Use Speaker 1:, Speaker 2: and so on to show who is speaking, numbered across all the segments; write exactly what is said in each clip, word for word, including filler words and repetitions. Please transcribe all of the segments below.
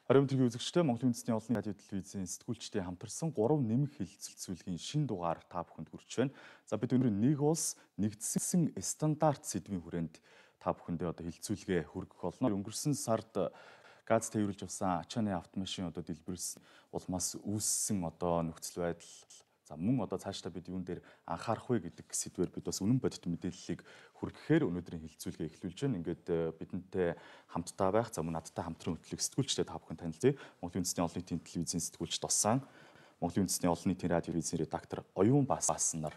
Speaker 1: Харин тэргийн үзэгчтэй Монголын үндэсний олон радио телевизийн сэтгүүлчдийн хамтарсан гурван нэмэх хэлэлцүүлгийн шин дугаар та бүхэнд хүрч байна. За бид өнөөдөр нэг улс нэгдсэн стандарт сэдвийн хүрээнд та бүхэндээ одоо хэлэлцүүлгээ хүргэх болно. Өнгөрсөн сард газ тээвэрлж авсан ачааны автомашин одоо дэлбэрсэн улмаас үүссэн одоо нөхцөл байдал. За мөн одоо цаашдаа бид юун дээр анхаарах вэ гэдэг сэдвээр бид бас үнэн бодит мэдээллийг хүргэхээр өнөөдрийн хэлэлцүүлгээ эхлүүлж байна. Ингээд бидэнтэй хамтдаа байх, за мөн надтай хамтран хөтлөх сэтгүүлчтэй та бүхэн танилцъя. Монголын үндэсний олон нийтийн телевизийн сэтгүүлч Досан, Монголын үндэсний олон нийтийн радио телевизийн редактор Оюун Баасан нар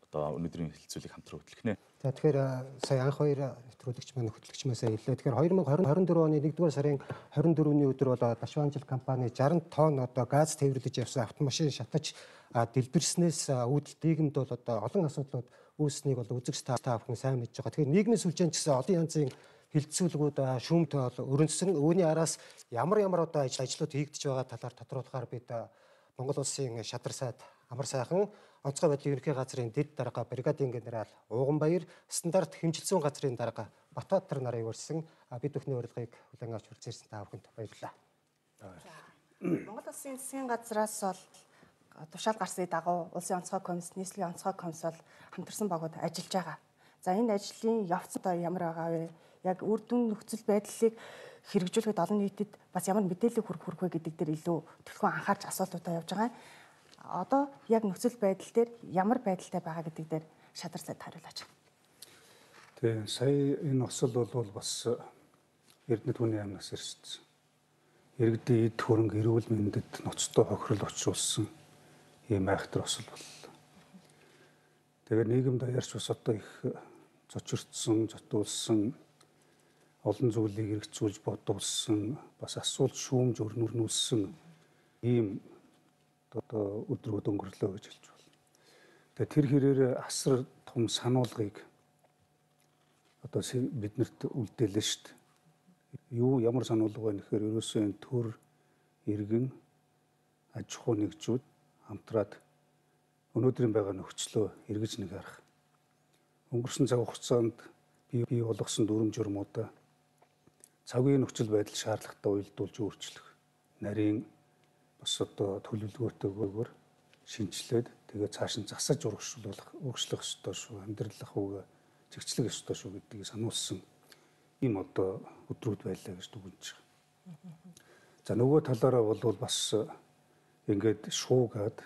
Speaker 1: одоо өнөөдрийн хэлэлцүүлгийг хамтран хөтлөх нэ.
Speaker 2: За тэгэхээр сая анх хоёр нэвтрүүлэгч маань хөтлөгч маясаа хэллээ. Тэгэхээр две тысячи двадцать two оны нэгдүгээр сарын двадцать четвёртний өдөр бол Дашванжил компани sixty тонн одоо газ тээвэрлэж явсан автомашин шатаж дэлбэрснээс үүдэл дийлэмд бол одоо олон асуудлууд үүснийг бол үзэгч та бүхэн сайн мэдж байгаа. Тэгэхээр нийгмийн сүлжээнд гэсэн олон янзын хэлэлцүүлгүүд шүүмт бол өрнөсөн. Үүний араас ямар ямар одоо ажлууд хийгдэж байгаа талаар тодруулахаар бид Монгол улсын шадар сайд Амар сайхан онцгой байдлын ерөнхий газрын дэд дарга бригадын генерал Ууганбаяр, стандарт хэмжилсэн газрын дарга Батбаатар нарыг урьсан бид бүхний урилгыг хүлээн авч хүрчээрсэн та бүхэнд баярлалаа.
Speaker 3: Монгол улсын засгийн газраас бол тушаал гарсны дагуу улсын онцгой комисс, нийслэлийн онцгой комисс бол хамтарсан багууд ажиллаж байгаа. За энэ ажлын явц одоо ямар байгаа вэ? Яг үр дүн нөхцөл байдлыг хэрэгжүүлэхэд олон нийтэд бас ямар мэдээлэл хүргэх хүрэх вэ гэдэг дээр илүү төлөвлөгөө анхаарч асуултуудаа явж байгаа. Одоо яг нөхцөл байдал дээр ямар байдалтай байгаа гэдэг дээр шадар сайд хариулаач.
Speaker 4: Тэгээ сая энэ осол бол бас Эрдэнэ түүний амнаас ирсэн. Иргэдийн эд хөрөнгө эрүүл мэндэд ноцтой хохирол очруулсан ийм айхтар осол боллоо. Тэгээ нийгэмд аяарч бас одоо их зочирдсон, зотуулсан, олон зүйлийг хэрэгцүүлж бодуулсан, бас асуулт шүүмж өрнүүлсэн ийм одоо өдрүүд өнгөрлөө гэж хэлж байна. Тэгээ тэр хэрээр асар том сануулгыг одоо биднэрт үлдээлээ шүү дээ. Юу ямар сануулга байна гэхээр ерөөсөө энэ төр иргэн аж ахуй нэгжүүд хамтраад өнөөдрийн байгаа нөхцлөө эргэж нэг харах. Өнгөрсөн цаг хугацаанд бий бий болгосон дүрм журмуудаа цагийн нөхцөл байдал шаардлагатай уялдуулж өөрчлөх, нарийн бас одоо төлөвлөгөөтэйгээр шинжилээд тэгээ цааш нь засаж урагшлуулах, урагшлах ёстой шүү, амьдрал ахуйг зэгцлэх ёстой шүү гэдгийг сануулсан ийм одоо өдрүүд байлаа гэж дүгнэж байгаа. За нөгөө талаараа бол бас ингээд шуугаад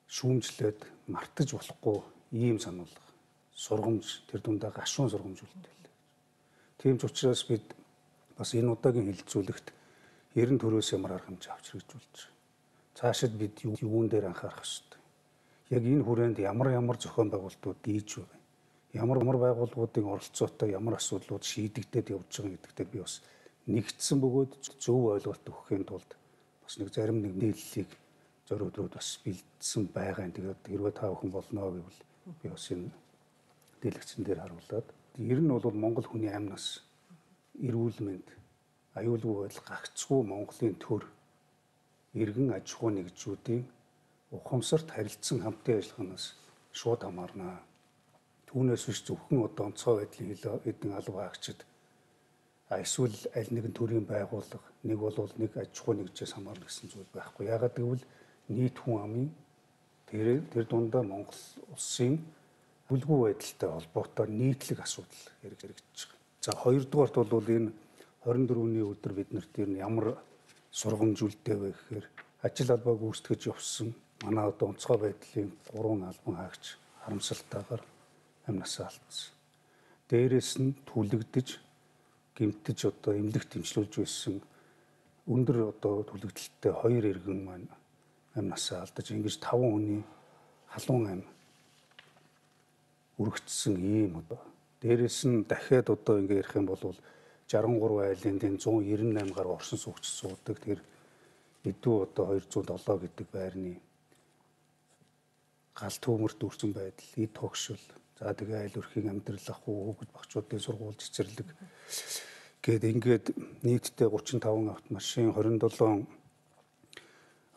Speaker 4: шүүмжлээд мартаж болохгүй ийм сануулга, сургамж тэр дундаа гашуун сургамж үлдээл. Тийм ч учраас бид бас энэ удаагийн хэлэлцүүлэгт ерөн төрөөс ямар арга хэмжээ авч хэрэгжүүлж байгаа. Цаашид бид юун дээр анхаарах ёстой. Яг энэ хүрээнд ямар ямар зохион байгуулалтууд дийж байгаа. Ямар ямар байгууллагуудын оролцоотой ямар асуудлууд шийдэгдээд явж байгаа гэдэгтээ би бас нэгдсэн бөгөөд зөв ойлголт өгөхийн тулд бас нэг зарим нэг нийллийг зөрүү өдрүүд бас бэлдсэн байгаа. Тэгээд хэрвээ та бүхэн болно гэвэл би бас энэ дэлгэцэн дээр харуулад ер нь бол Монгол хүний амнаас эрүүл мэнд аюулгүй байдал гагцгүй Монголын төр иргэн аж ахуй нэгжүүдийн ухамсарт харилцсан хамтын ажиллагаанаас шууд хамаарна. Түүнээс биш зөвхөн одоо онцгой байдлын хэдэн алба хаагчид эсвэл аль нэгэн төрлийн байгууллага нэг бол нэг аж ахуй нэгжээс хамаарна гэсэн зүйл байхгүй. Яагаад гэвэл нийт хүн амын тэр тэр дундаа Монгол улсын бүлгүй байдалтай холбоотой нийтлэг асуудал хэрэгжиж байгаа. За хоёрдугаарт бол энэ двадцать four-ний өдөр биднэрт ер нь ямар сургамж үлдээ вэ гэхээр ажил албааг үүсгэж явсан манай одоо онцгой байдлын гурван албан хаагч харамсалтайгаар амнасаа алдсан. Дээрээс нь түлэгдэж, гэмтэж одоо эмнэлэгт дэмжлүүлж байсан өндөр одоо түлэгдэлтэй хоёр иргэн маань амнасаа алдаж ингэж таван хүний халуун ам үргэжсэн ийм одоо. Дээрээс нь дахиад одоо ингэ ярих юм бол sixty-three айлын one ninety-eight гаруй орсон суугч суудаг. Тэр эдүү одоо two oh seven гэдэг байрны гал төмөрт үрсэн байдал, эд тогшил, за тэгээ айл өрхийн амьдрал ахуй хүүхэд багчуудын сургууль цэцэрлэг гээд ингээд нийтдээ thirty-five автомашин, twenty-seven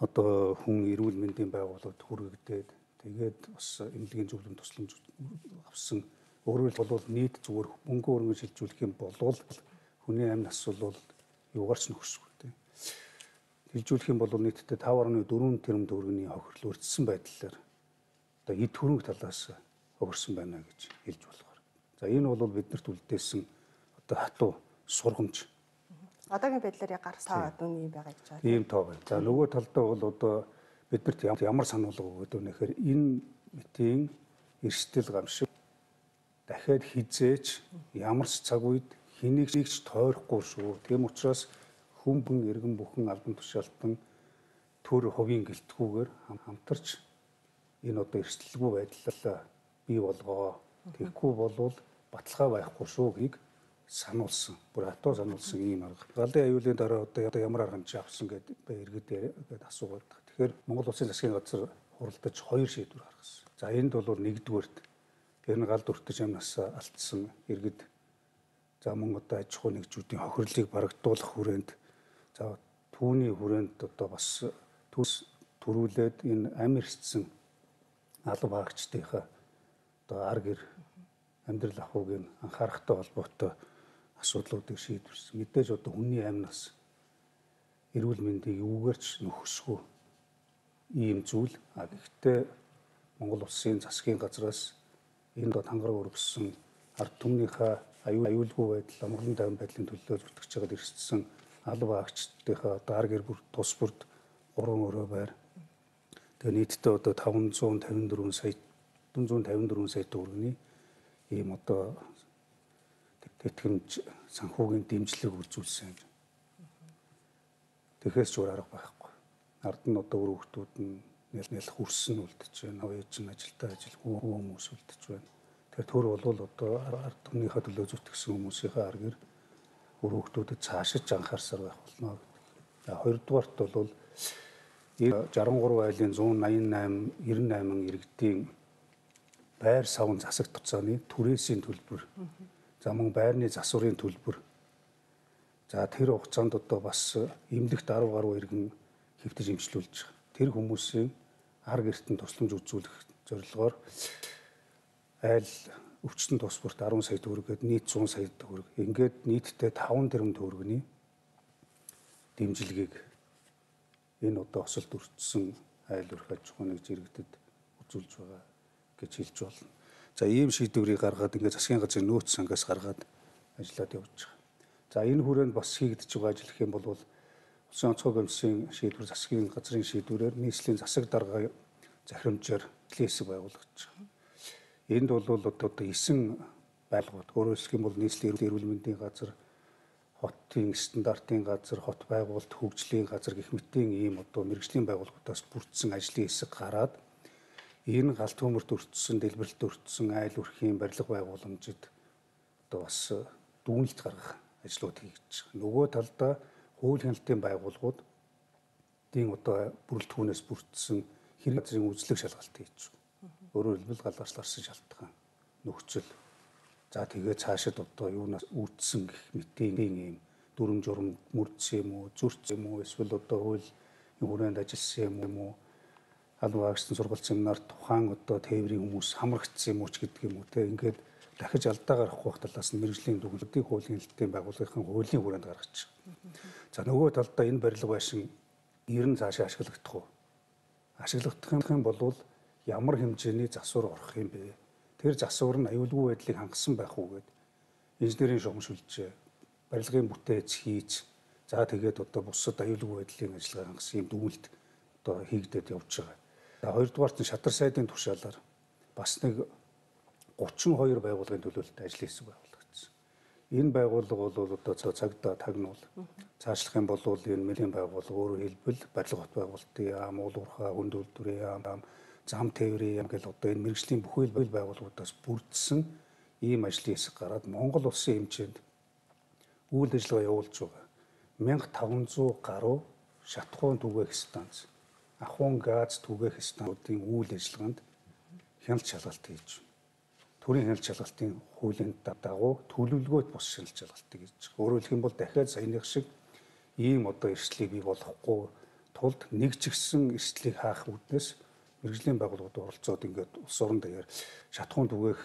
Speaker 4: одоо хүн эрүүл мэндийн байгууллагад хүргэгдээд тэгээд бас эмнэлгийн зөвлөм тусламж авсан. Өөрөөр хэлбэл нийт зүгээр мөнгө өргөн шилжүүлэх юм бол хүний амь нас бол юугаарч нөхөшгүй тийм. Хэлжүүлэх юм бол нийтдээ таван гаруй дөрвөн тэрбум төгрөгийн хохирол өртсөн байдлаар одоо эд хөрөнгө талаас хохирсон байна гэж хэлж болохоор. За энэ бол биднэрт үлдээсэн одоо хатуу сургамж.
Speaker 3: Одоогийн байдлаар гарах тоо одоо ийм байгаа гэж байна.
Speaker 4: Ийм тоо байна. За нөгөө талдаа бол одоо биднэрт ямар сануулга өгöd вэ гэхээр энэ мэтийн эрсдэл гамшиг дахиад хизээч ямар ч цаг үед хэнийг ч тойрохгүй шүү. Тийм учраас хүн хүн иргэн бүхэн албан тушаалтан төр хувийн гэлтгүүгээр хамтарч энэ одоо эрсдэлгүй байдлаа бий болгоо. Тэгэхгүй болвол баталгаа байхгүй шүү гэхийг сануулсан. Бүр хатуу сануулсан ийм арга. Галын аюулын дараа одоо ямар арга хэмжээ авсан гэдэг иргэд гээд асуугаад. Тэгэхээр Монгол Улсын засгийн газар хуралдаж хоёр шийдвэр гаргасан. За энд бол нэгдүгээрт энэ галд өртөж амнаас алдсан иргэд за мөн одоо аж ахуй нэгжүүдийн хохирлыг барагдуулах хүрээнд за түүний хүрээнд одоо бас төс төрүүлээд энэ ам эрсдсэн алба хаагчдынхаа одоо ар гэр амьдрал ахуйг анхаарахтай холбоотой асуудлуудыг шийдвэрсэн. Мэдээж одоо хүний амнаас эрүүл мэндийг юугаарч нөхөсгүй ийм зүйл. А гэхдээ Монгол Улсын засгийн газраас энэ дот хангараг өргөссөн ард түмнийхээ аюулгүй байдал, амгалан тайван байдлын төлөө зүтгэж байгаад ирсэн алба хаагчдынхаа одоо ар гэр бүл тус бүрд гурван өрөө байр. Тэгээ нийтдээ одоо таван зуун тавин дөрвөн сая таван зуун тавин дөрвөн сая төгрөгийн ийм одоо тэтгэмж санхүүгийн дэмжлэг үзүүлсэн. Тэгэхээс ч өөр арга байхгүй. Ард нь одоо өөр хүмүүсд нь нэл нэл хүрсэн үлдэж байна. Оёж нь ажилдаа ажилгүй хүмүүс үлдэж байна. Тэгэхээр төр бол одоо ард түмнийхээ төлөө зүтгэсэн хүмүүсийнхээ ар гэр өөр хүмүүсд цаашиж анхаарсаар байх болно гэдэг. За хоёрдугаарт бол шестдесет и гурван айлын зуун найман восемь девяносто восемь иргэдийн байр савн засаг туцааны түрээсийн төлбөр. За мөн байрны засварын төлбөр. За тэр хугацаанд одоо бас эмнэлэгт десять гаруй иргэн хэвтэж имчилүүлж байгаа. Тэр хүмүүсийн ар гэртэн тусламж үзүүлэх зорилгоор айл өвчтөн тус бүрт десять сая төгрөг гээд нийт сто сая төгрөг. Ингээд нийтдээ таван тэрбум төгрөгийн дэмжлэгийг энэ одоо осолд өртсөн айл өрх аж ахуй нэгж иргэдэд үзүүлж байгаа гэж хэлж болно. За ийм шийдвэрийг гаргаад ингээд засгийн газрын нөөц сангаас гаргаад ажиллаад явж байгаа. За энэ хүрээнд бас хийгдэж байгаа ажил гэх юм бол Улсын онцгой комиссийн шийдвэр засгийн газрын шийдвэрээр нийслэлийн засаг дарга захирамжаар хэсэг байгуулагдаж байгаа. Энд бол одоо эсэн байгууллагууд өөрөөр хэлэх юм бол нийслэлийн эрүүл мэндийн газар, хотын стандартын газар, хот байгуулалт, хөгжлийн газар гэх мэтийн ийм одоо мэргэжлийн байгууллагуудаас бүрдсэн ажлын хэсэг гараад энэ галт хөмөрт өртсөн, дэлбэрэлт өртсөн айл өрхийн барилга байгууламжид одоо бас дүүнэлт гаргах ажлууд хийж байгаа. Нөгөө талдаа хууль хяналтын байгууллагууд дийн одоо бүрэлдэхүүнээс бүрдсэн хэрэг газрын үзлэг шалгалт хийж байгаа. Өөрөөр хэлбэл галаарчларсан шалтгаан нөхцөл. За тэгээ цаашид одоо юунаас үүдсэн гэх мэтийн ийм дүрм журм мөрдсөн юм уу, зүрцсэн юм уу, эсвэл одоо хууль хүрээнд ажилласан юм уу, албан хаагчдын сургалт семинар тухайн одоо тээврийн хүмүүс хамрагдсан юм уу ч гэдэг юм уу те ингээд дахиж алдаа гарахгүй байх талаас нь мэргэжлийн дүгнэлтийн хуулийн хэлтийн байгууллагын хуулийн хүрээнд гаргаж байгаа. За нөгөө талдаа энэ барилга байшин ер нь цаашаа ашиглагдах уу? Ашиглагдах юм бол ямар хэмжээний засвар орох юм бэ? Тэр засвар нь аюулгүй байдлыг хангасан байх уу гэд инженерийн шугамшилж барилгын бүтээц хийж за тэгээд одоо бусад аюулгүй байдлын ажиллагаа хангасан юм дүгнэлт одоо хийгдээд явж байгаа. За хоёрдугаарт нь шатар сайдын тушаалаар бас нэг гучин хоёр байгууллагын төлөөлөлт ажлын хэсэг байгуулагдсан. Энэ байгууллага бол одоо цагдаа тагнуул цаашлах юм бол энэ мэлийн байгууллага өөрөөр хэлбэл барилга хот байгуулалтын яам, уулуурхай, хүнд үйлдвэрийн яам, зам тээврийн яам гэл одоо энэ мэргэжлийн бүхэл байгууллагуудаас бүрдсэн ийм ажлын хэсэг гараад Монгол улсын хэмжээнд үйл ажиллагаа явуулж байгаа. мянга таван зуун гаруй шатхуун түгээх станц, ахуйн газ түгээх станцуудын үйл ажиллагаанд хяналт шалгалт хийж төрийн хяналт шалгалтын хуулийн дагуу төлөвлөгөөт бус хяналт шалгалтыг хийж байгаа. Өөрөөр хэлэх юм бол дахиад саяных шиг ийм одоо эрсдлийг бий болохгүй тулд нэг ч ихсэн эрсдлийг хаах үүднээс мэргэжлийн байгууллагууд оролцоод ингээд улс орон даяар шатхуун түгээх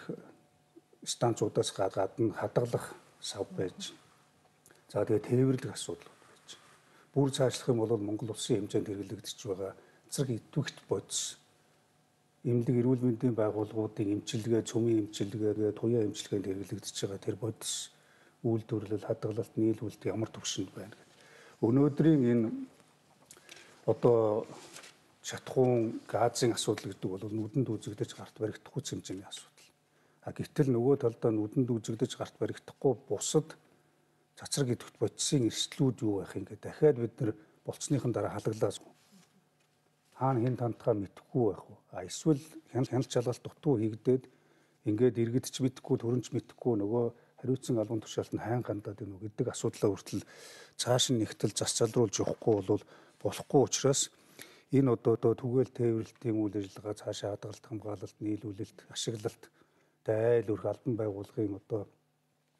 Speaker 4: станцуудаас гадна хадгалах сав байж. За тэгээ тээвэрлэх асуудал байж. бүр цаашлах юм бол Монгол улсын хэмжээнд хэрэглэгдэж байгаа эцэг идэвхт бодис эмнэлэг эрүүл мэндийн байгууллагуудын эмчилгээ, цөмийн эмчилгээ, туяа эмчилгээнд хэрэглэгдэж байгаа тэр бодис үйлдвэрлэл, хадгалалт, нийлүүлэлт ямар түвшинд байна. Өнөөдрийн энэ одоо шатхуун газын асуудал гэдэг бол нүдэнд үзэгдэж гарт баригдахгүй хэмжээний асуудал. А гэтэл нөгөө талдаа нүдэнд үзэгдэж гарт баригдахгүй бусад цацраг идэвхт бодисын эрсдлүүд юу байх юм гээд дахиад бид нар болцсныхан дараа халаглаас хаана хэн тантахаа мэдэхгүй байх уу? А эсвэл хяналт шалгалт дутуу хийгдээд ингээд иргэдч мэдэхгүй, төрөнч мэдэхгүй нөгөө хариуцсан албан тушаалт нь хайн гандаад байна уу гэдэг асуудлаа хүртэл цааш нь нэгтэл зас залруулж явахгүй бол болохгүй учраас энэ одоо түгээл тээвэрлэлтийн үйл ажиллагаа цаашаа хадгалалт, хамгаалалт, нийлүүлэлт, ашиглалт, айл өрх албан байгууллагын одоо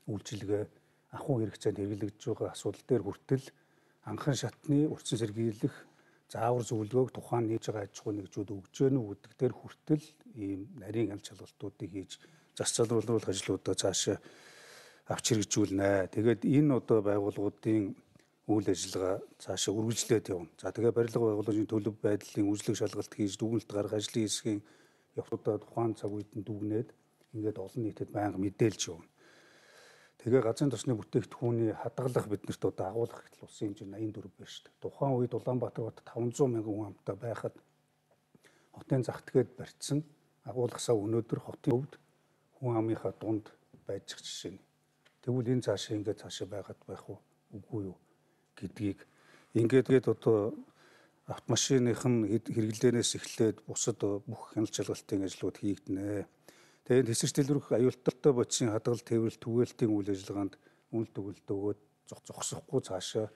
Speaker 4: үйлчилгээ ахуй хэрэгцээнд хэрэглэгдэж байгаа асуудал дээр хүртэл анхан шатны урьдчилан сэргийлэх заавар зөвлөгөөг тухайн нээж байгаа аж ахуй нэгжүүд өгж гэнэ үү гэдэг дээр хүртэл ийм нарийн хяналт шалгалтуудыг хийж зас залруулах ажлуудаа цаашаа авч хэрэгжүүлнэ. Тэгээд энэ одоо байгууллагуудын үйл ажиллагаа цаашаа үргэлжлээд явна. За тэгээд барилга байгууллагын төлөв байдлын үйлчлэг шалгалт хийж дүгнэлт гаргах ажлын хэсгийн явцуудаа тухайн цаг үед нь дүгнээд ингээд олон нийтэд байнга мэдээлж явна. Тэгээ газрын тосны бүтээгдэхүүний хадгалах биднэрт одоо агуулгах гэтэл улсын хэмжээнд аян дөрв байна шүү дээ. Тухайн үед Улаанбаатар бот таван зуун мянган хүн амтай байхад хотын зах тэгэд барьцсан агуулгасаа өнөөдөр хотын өвд хүн амынхаа дунд байж байгаа жишээ нь. Тэгвэл энэ цаашаа ингээд цаашаа байгаад байх уу үгүй юу гэдгийг ингээд одоо автомашиных нь хэрэглээнээс эхлээд бусад бүх хяналт шалгалтын ажлууд хийгдэнэ. Тэгээд хэсэг дэлгэрэх аюултай бодисын хадгалалт, тээвэрлэлт, түгээлтийн үйл ажиллагаанд үнэл төгөлд өгөөд зогсохгүй цаашаа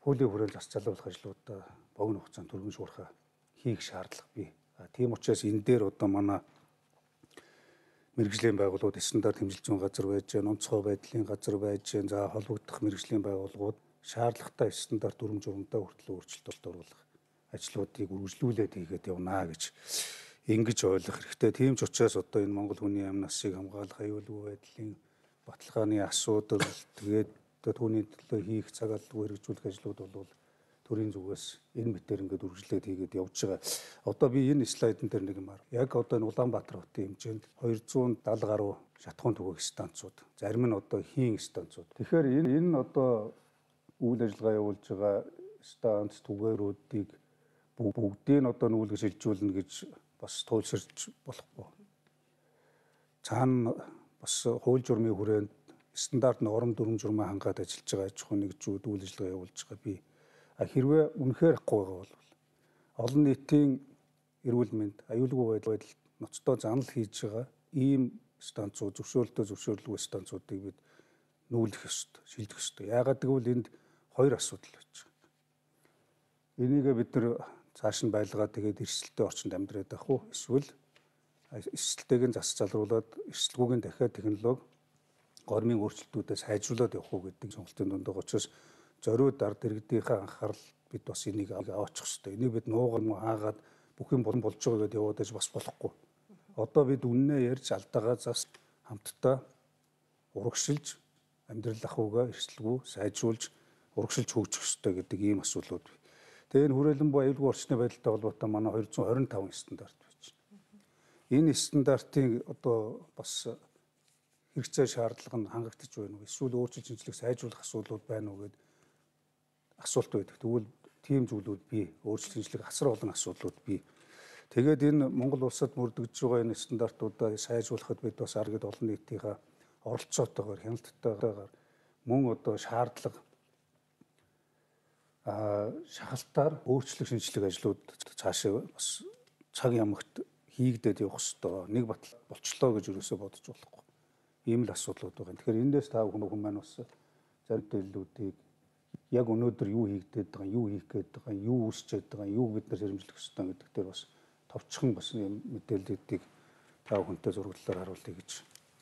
Speaker 4: хуулийн хүрээнд зас залруулах ажлуудаа богино хугацаанд түргэн шуурхаа хийх шаардлага бий. Тийм учраас энэ дээр одоо манай мэргэжлийн байгууллагууд стандарт хэмжилж байгаа газар байж гэн, онцгой байдлын газар байж гэн, за холбогдох мэргэжлийн байгууллагууд шаардлагатай стандарт дүрм журамдаа хүртэл өөрчлөлт оруулах ажлуудыг үргэлжлүүлээд хийгээд явна гэж ингэж ойлгох хэрэгтэй. Тийм ч учраас одоо энэ Монгол хүний амь насыг хамгаалах аюулгүй байдлын баталгааны асуудал тэгээд түүний төлөө хийх цаг албагүй хэрэгжүүлэх ажлууд бол төрийн зүгээс энэ мэтэр ингээд үргэлжлээд хийгээд явж байгаа. Одоо би энэ слайдн дээр нэг юм аа. Яг одоо энэ Улаанбаатар хотын хэмжээнд двести даатар гаруй шатхуун түгээх станцууд, зарим нь одоо хийн станцууд. Тэгэхээр энэ энэ одоо үйл ажиллагаа явуулж байгаа станц түгээрүүдийг бүгдийг одоо нүүлгэж шилжүүлнэ гэж бас туйлширч болохгүй. Цаана бас хууль журмын хүрээнд стандарт норм дүрм журмаа хангаад ажиллаж байгаа аж ахуйн нэгжүүд үйл ажиллагаа явуулж байгаа би хэрвээ үнэхээр ахгүй байгаа бол олон нийтийн эрүүл мэнд, аюулгүй байдал ноцтой занал хийж байгаа ийм станцууд, зөвшөөрөлтөө зөвшөөрлгүй станцуудыг бид нүүлгэх ёстой, шилжих ёстой. Яагаад гэвэл энд хоёр асуудал байж байгаа. Энийг бид нар цааш нь байлгаад тэгээд эрсдэлтэй орчинд амьдраад байх уу? Эсвэл эрсдэлтэйг нь зас залруулад эрсдэлгүйг нь дахиад технологи гормын өөрчлөлтүүдээ сайжруулад явах уу гэдэг сонголтын дунд байгаа учраас зориуд ард иргэдийнхээ анхаарал бид бас энийг аваачих хэрэгтэй. Энийг бид нуугар муу хаагаад бүх юм болон болж байгаа гэдээ яваад аж бас болохгүй. Одоо бид үннээ ярьж алдаагаа зас хамтдаа урагшилж амьдрал ахуйгаа эрсдэлгүй сайжруулж урагшилж хөгжих хэрэгтэй гэдэг ийм асуудлууд бий. Тэгээ энэ хүрээлэн буй аюулгүй орчны байдалтай холбоотой манай двести двадцать пять стандарт байж байна. Энэ стандартын одоо бас хэрэгцээ шаардлага нь хангагдаж байна уу? Эсвэл өөрчлөлт шинжилгээ сайжруулах асуудлууд байна уу гэдэг асуулт байдаг. Тэгвэл тийм зүйлүүд бий. Өөрчлөлт шинжилгээ асар олон асуудлууд бий. Тэгээд энэ Монгол улсад мөрдөгдөж байгаа энэ стандартуудаа сайжруулахад бид бас аргад олон нийтийнхээ оролцоотойгоор хяналттайгаар мөн одоо шаардлага а шахалтаар өөрчлөлт шинжилгээ ажлууд цаашаа бас цаг ямагт хийгдээд явах ёстой. Нэг батал болчлоо гэж юусоо бодож болохгүй. Ийм л асуудлууд байгаа. Тэгэхээр эндээс та бүхэн маань бас зарим төлөвлөлтүүдийг яг өнөөдөр юу хийгдээд байгаа, юу хийх гээд байгаа, юу үүсчээд байгаа, юу бид нар хэрэгжүүлэх ёстой гэдэг дээр бас товчхон бас юм мэдээллүүдийг та бүхэнтэй зураглалаар харуулъя гэж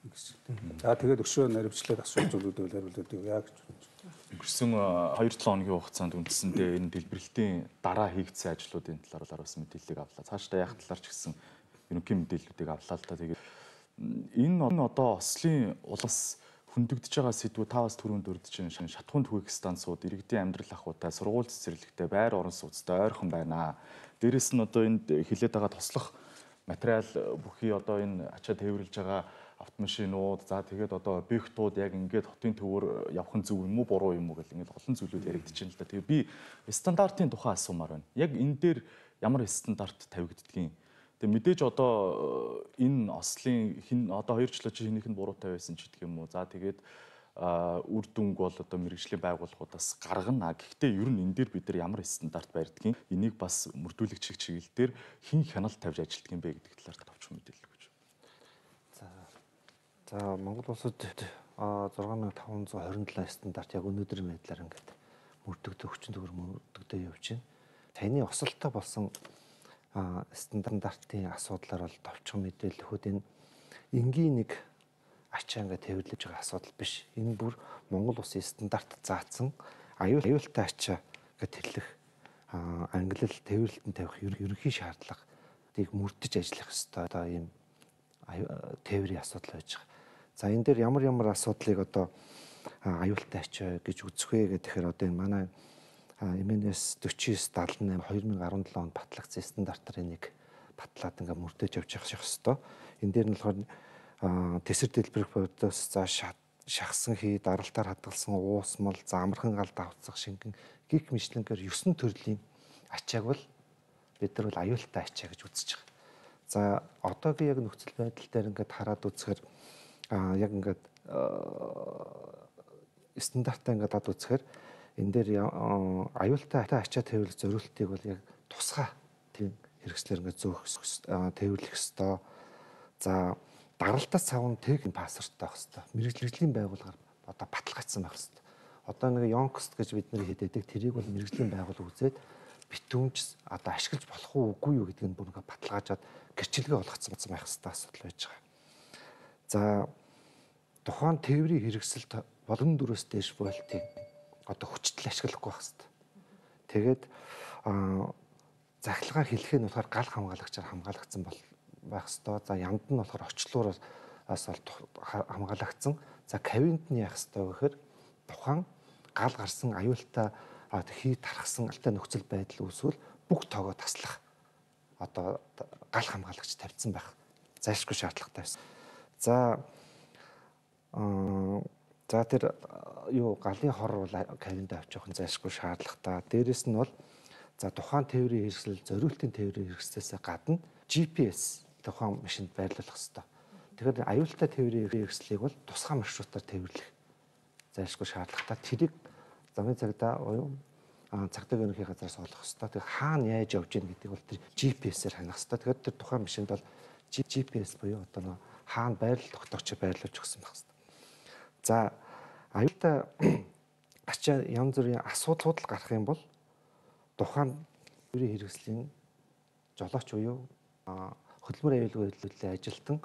Speaker 4: ингэсэн. За тэгээд өшөө наривчлаад асуух зүйлүүдийг хариулдаг яа гэж бодож байна.
Speaker 1: Өнгөрсөн хоёр долоо хоногийн хугацаанд үндсэндээ энэ дэлбэрэлтийн дараа хийгдсэн ажлуудын талаар бас мэдээллийг авлаа. Цаашдаа яах талаар ч гэсэн ерөнхий мэдээллүүдийг авлаа л та. Тэгээд энэ одоо Ослын улс хөндөгдөж байгаа сэдвүүд та бас түрүүнд дурдж байна. Шатхуун түгээх станцууд, иргэдийн амьдрал ахуйтай, сургууль цэцэрлэгтэй, байр орон сууцтай ойрхон байна. Дээрэс нь одоо энд хилээд байгаа туслах материал бүхий одоо энэ ачаа тээвэрлж байгаа автомашинууд, за тэгээд одоо объектууд яг ингээд хотын төвөөр явах нь зөв юм уу, буруу юм уу гэл ингээд олон зүйлүүд яригдж байна л да. Тэгээ би стандартын тухай асуумаар байна. Яг энэ дээр ямар стандарт тавигддгийг. Тэгээ мэдээж одоо энэ ослын хин одоо хоёр жилийн чи хинийх нь буруутай байсан ч гэх юм уу. За тэгээд үр дүнг бол одоо мэрэгжлийн байгууллагуудаас гаргана. Гэхдээ ер нь энэ дээр бид нар ямар стандарт барьдгийг энийг бас мөрдүүлэгч чиглэл дээр хэн хяналт тавьж ажилтдаг юм бэ гэдэг талаар товчхон мэдээлэл өгч.
Speaker 5: За. За Монгол улсад зургаан мянган таван зуун хорин долоо стандарт яг өнөөдрийн байдлаар ингээд мөрдөгдөө хүчин төгөр мөрдөгдөө явж байна. Таны осолтой болсон стандартын асуудлаар бол товчхон мэдээлэл өгөхөд энэ энгийн нэг ачаа ингээд тээвэрлэж байгаа асуудал биш. Энэ бүр Монгол улсын стандарт заасан аюул аюултай ачаа гэж тэрлэх англил тээвэрлэлтэн тавих ерөнхий шаардлагыг мөрдөж ажиллах ёстой одоо ийм тээврийн асуудал байж байгаа. За энэ дээр ямар ямар асуудлыг одоо аюултай ачаа гэж үзэх вэ гэхээр одоо энэ манай эм эн эс форty nine seventy-eight two thousand seventeen онд батлагдсан стандартаар энийг батлаад ингээ мөрдөж явж явах ёстой. Энэ дээр нь болохоор тэсэр дэлбэрэх бодос за шахсан хий даралтаар хадгалсан уусмал за амархан гал давцах шингэн гих мэтлэнгээр нine төрлийн ачааг бол бид нар бол аюултай ачаа гэж үзэж байгаа. За одоогийн яг нөхцөл байдал дээр ингээд хараад үзэхээр яг ингээд стандартаа ингээд дад үзэхээр энэ дээр аюултай ачаа тээвэрлэх зорилтыг бол яг тусгай тийм хэрэгслэр ингээд зөөх тээвэрлэх ёстой. За даралтаас цавн техник пассворттай байх ёстой. Мэргэжлийн байгууллагаар одоо баталгаажсан байх ёстой. Одоо нэг Yonkst гэж бид нэр хэдэдэг тэрийг бол мэргэжлийн байгууллага үзээд битүүмж одоо ашиглаж болох уу үгүй юу гэдгийг бүр ингээд баталгаажаад гэрчлэгээ болгоцсон байх ёстой асуудал байж байгаа. За тухайн тээврийн хэрэгсэлд болгон дөрөөс дээш вольтыг одоо хүчтэл ашиглахгүй байх ёстой. Тэгээд захилгаан хэлхээ нь болохоор гал хамгаалагчаар хамгаалагдсан бол байх ёстой. За ямд нь болохоор орчлуураас хамгаалагдсан. За кавинт нь яах ёстой гэхээр тухайн гал гарсан аюултай хий тархсан алтай нөхцөл байдал үүсвэл бүх тоогоо таслах одоо гал хамгаалагч тавьсан байх зайлшгүй шаардлагатай байсан. За за тэр юу галын хор бол кавинд авч явах нь зайлшгүй шаардлагатай. Дээрэс нь бол за тухайн тээврийн хэрэгсэл зориултын тээврийн хэрэгслээс гадна джи пи эс тухайн машинд байрлуулах ёстой. Тэгэхээр аюултай тээврийн хэрэгслийг бол тусгай маршрутаар тээвэрлэх зайлшгүй шаардлагатай. Тэрийг замын цагдаа буюу цагдаа ерөнхий газраас олох ёстой. Тэгэхээр хаана яаж явж гин гэдэг бол тэр джи пи эсээр ханах ёстой. Тэгэхээр тэр тухайн машинд бол джи пи эс буюу одоо хаана байрлал тогтоогч байрлуулж өгсөн байх ёстой. За аюултай ачаа янз бүрийн асуудлууд л гарах юм бол тухайн тээврийн хэрэгслийн жолооч буюу хөдөлмөр аюулгүй хөдөлгөөний ажилтан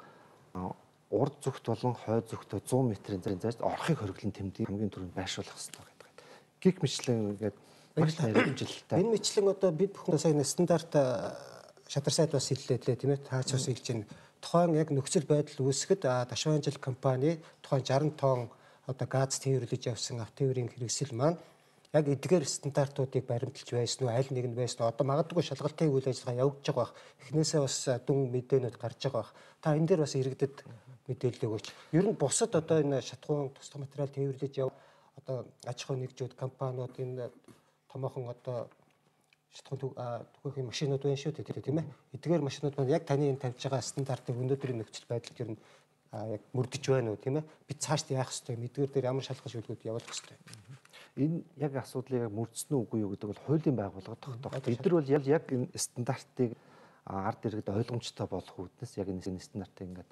Speaker 5: урд зүгт болон хойд зүгтөө one hundred метрийн зайд орохыг хориглон тэмдэг хамгийн түрүүнд байршуулах хэрэгтэй гэдэг. Гих мэтлэн ингээд маш тариалжилттай. Энэ мэтлэн одоо бид бүхэн сая стандарт шадар сайд бас хэллээ тийм ээ таач бас хэлж байна. Тухайн яг нөхцөл байдал үүсгэхэд Дашван ажил компани тухайн sixty тонн одоо газ тээвэрлэж явсан автотээврийн хэрэгсэл маань яг эдгээр стандартуудыг баримталж байсан уу, аль нэг нь байсан уу? Одоо магадгүй шалгалтын үйл ажиллагаа явагдаж байгаа бах. Эхнээсээ бас дүн мэдээнүүд гарч байгаа бах. Та энэ дээр бас иргэдэд мэдээлэл өгөөч. Ер нь бусад одоо энэ шатхуун тусгай материал тээвэрлэж яв одоо аж ахуй нэгжүүд компаниуд энэ томоохон одоо шатхуун түгээх машинууд байна шүү дээ тийм ээ. Эдгээр машинууд маань яг таны энэ тавьж байгаа стандартыг өнөөдрийн нөхцөл байдалд ер нь яг мөрдөж байна уу тийм ээ. Бид цаашд яах ёстой юм? Эдгээр дээр ямар шалгах шүлгүүд явуулах ёстой юм? Энэ яг асуудлыг мөрдсөн үү үгүй юу гэдэг бол хуулийн байгууллага тогтоох. Бид нар бол яг энэ стандартыг ард иргэд ойлгомжтой болох үүднээс яг энэ стандартыг ингээд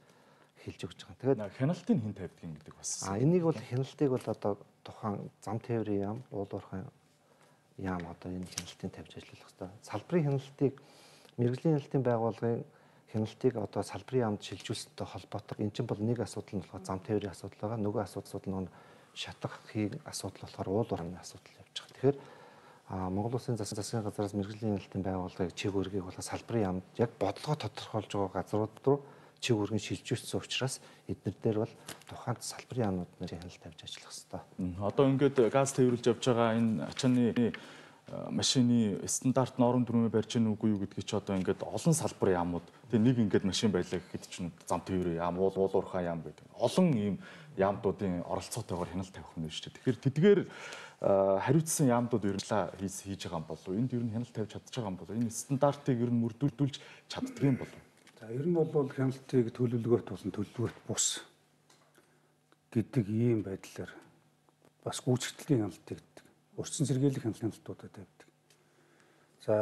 Speaker 5: хэлж өгч байгаа. Тэгээд
Speaker 1: хяналтыг хэн тавьдаг гэдэг бас.
Speaker 5: А энийг бол хяналтыг бол одоо тухайн зам тээврийн яам, уулуурхайн яам одоо энэ хяналтыг тавьж ажиллах хэрэгтэй. Салбарын хяналтыг мэргэжлийн хяналтын байгууллагын хяналтыг одоо салбарын яамд шилжүүлсэнтэй холбоотой. Энэ чинь бол нэг асуудал нь болохоор зам тээврийн асуудал байгаа. Нөгөө асуудал нь шатах хийх асуудал болохоор уулуурхайн асуудал явж байгаа. Тэгэхээр Монгол Улсын засгийн газраас мэргэжлийн хяналтын байгууллагыг чиг үүргийг бол салбарын яамд яг бодлого тодорхойлж байгаа газрууд руу чиг үүргэн шилжүүлсэн учраас эдгээр дээр бол тухайн салбарын яамнууд нарын хяналт тавьж ажиллах хэрэгтэй.
Speaker 1: Одоо ингээд газ тээвэрлж явж байгаа энэ ачааны машины стандарт норм дүрмээ барьж гэнэ үгүй юу гэдгийг чи одоо ингээд олон салбарын яамууд тэгээ нэг ингээд машин байлаа гэхэд чинь зам тээврийн яам, уул уурхай яам гэдэг. Олон ийм яамдуудын оролцоотойгоор хяналт тавих нь шүү дээ. Тэгэхээр тэдгээр хариуцсан яамдууд ерөнхийдөө хийж хийж байгаа юм болов уу? Энд ер нь хяналт тавьж чадчих байгаа юм болов уу? Энэ стандартыг ер нь мөрдүүлж чаддаг юм болов уу?
Speaker 4: За ер нь бол хяналтыг төлөвлөгөөт болон төлөвлөгөөт бус гэдэг ийм байдлаар бас гүйцэтгэлийн хяналтыг гэдэг. Урьдчилан сэргийлэх хяналтуудад тавьдаг. За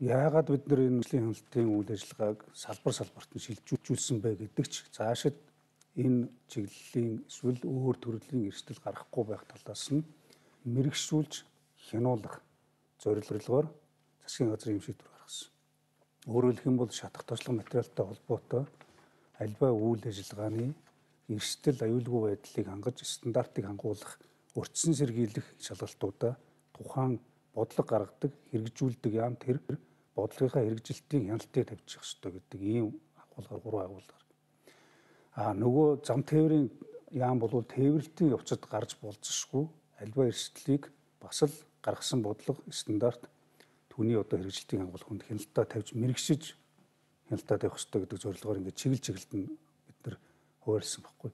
Speaker 4: яагаад бид нар энэ хяналтын үйл ажиллагааг салбар салбарт нь шилжүүлсэн бэ гэдэг ч цаашид энэ чиглэлийн эсвэл өөр төрлийн эрсдэл гарахгүй байх талаас нь мэрэгшүүлж хянуулах зорилгоор засгийн газрын юм шийдвэр гаргасан. Өөрөөр хэлэх юм бол шатах тослог материалтай холбоотой альва үйл ажиллагааны эрсдэл аюулгүй байдлыг хангаж стандартыг хангуулах урьдчилан сэргийлэх шалгалтуудаа тухайн бодлого гаргадаг, хэрэгжүүлдэг яам тэр бодлогынхаа хэрэгжилтийн хяналтыг тавьчих ёстой гэдэг ийм агуулгаар гурван агуулгаар. А нөгөө зам тээврийн яам бол тээвэрлтийн явцад гарч болзошгүй альва эрсдлийг бас л гаргасан бодлого стандарт түүний одоо хэрэгжилтийн хангуулаханд хяналтаа тавьж мэрэгшиж хяналтаа тавих ёстой гэдэг зорилгоор ингээд чиглэл чиглэлд нь бид нар хуваарлсан баггүй.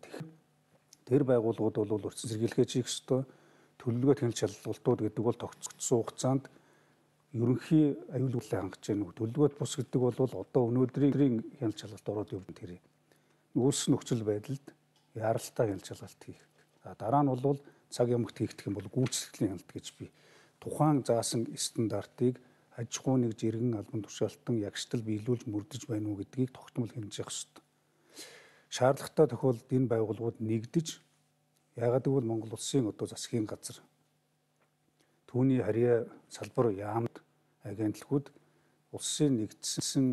Speaker 4: Тэр байгууллагууд бол урьдчилан сэргийлэхээ чих ёстой. Төлөвлөгөөт хяналт шалгалтууд гэдэг бол тогтцсон хугацаанд ерөнхий аюулгүйдлийг хангаж байгаа. Төлөвлөгөөт бус гэдэг бол одоо өнөөдрийн хяналт шалгалт ороод явна тэр. Үүссэн нөхцөл байдалд яаралтай хяналт шалгалт хийх. За дараа нь бол цаг ямагт хийгдэх юм бол гүйцэтгэлийн хяналт гэж би тухайн заасан стандартыг аж ахуй нэг жиргэн албан тушаалтан ягштал биелүүлж мөрдөж байна уу гэдгийг тогтмол хэмжих ёстой. Шаардлагатай тохиолдолд энэ байгууллагууд нэгдэж яагаад гэвэл Монгол улсын одоо засгийн газар түүний харьяа салбар яамд агентлагууд улсын нэгдсэн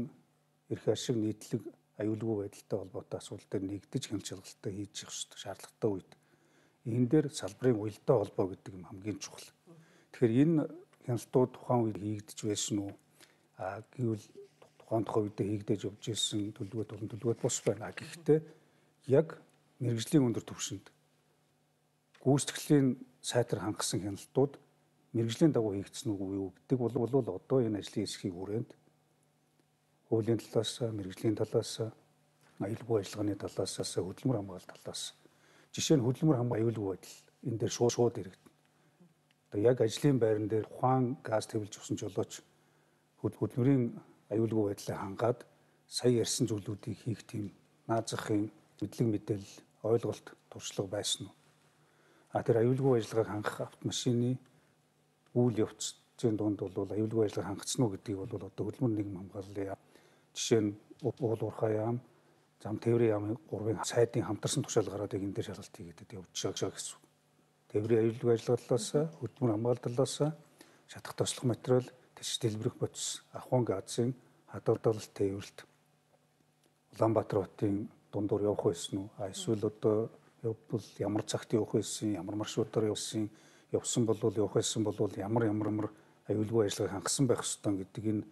Speaker 4: эрх ашиг нийтлэг аюулгүй байдалтай холбоотой асуудал дээр нэгдэж хяналт шалгалтаа хийж явах ёстой шаардлагатай үед. Энэ дээр салбарын уялдаа холбоо гэдэг юм хамгийн чухал. Тэгэхээр энэ хяналтууд тухайн үед хийгдэж байсан уу? А гэвэл тухайн тухайн үедээ хийгдэж явж ирсэн төлөвлөгөөт болон төлөвлөгөөт бус байна. Гэхдээ яг мэрэгжлийн өндөр түвшинд гүйцэтгэлийн сайтар хангасан хяналтууд мэрэгжлийн дагуу хийгдсэн үгүй юу гэдэг бол одоо энэ ажлын хэсгийн хүрээнд хуулийн талаас, мэрэгжлийн талаас, аюулгүй ажиллагааны талаас, хөдөлмөр хамгаалалт талаас жишээ нь хөдөлмөр хамгаалалт аюулгүй байдал энэ дээр шууд шууд ирэгдэнэ. Одоо яг ажлын байран дээр ухаан газ төвлөж өгсөн жолооч хөдөлмөрийн аюулгүй байдлыг хангаад сая ярьсан зүйлүүдийг хийх тийм наазахын мэдлэг мэдээлэл ойлголт туршлага байсан уу? А тэр аюулгүй ажиллагааг хангах автомашины үйл явцын дунд бол аюулгүй ажиллагааг хангацсан уу гэдгийг бол одоо хөдөлмөр нийгэм хамгааллын жишээ нь уул уурхай яам, зам тээврийн яамын гурвын сайдын хамтарсан тушаал гараад энэ дээр шалгалт хийгээд явж байгаа гэсэн. Тээврийн аюулгүй ажиллагаа талаас, хөдөлмөр хамгаалалт талаас, шатах тослох материал, тэш дэлбэрэх бодис, ахуйн газын хадгалалт тээвэрлэлт Улаанбаатар хотын дундуур явах байсан уу? А эсвэл одоо явбал ямар цагт явах байсан, ямар маршрутаар явсан, явсан бол явах байсан бол ямар ямар ямар аюулгүй ажиллагааг хангасан байх ёстой гэдэг энэ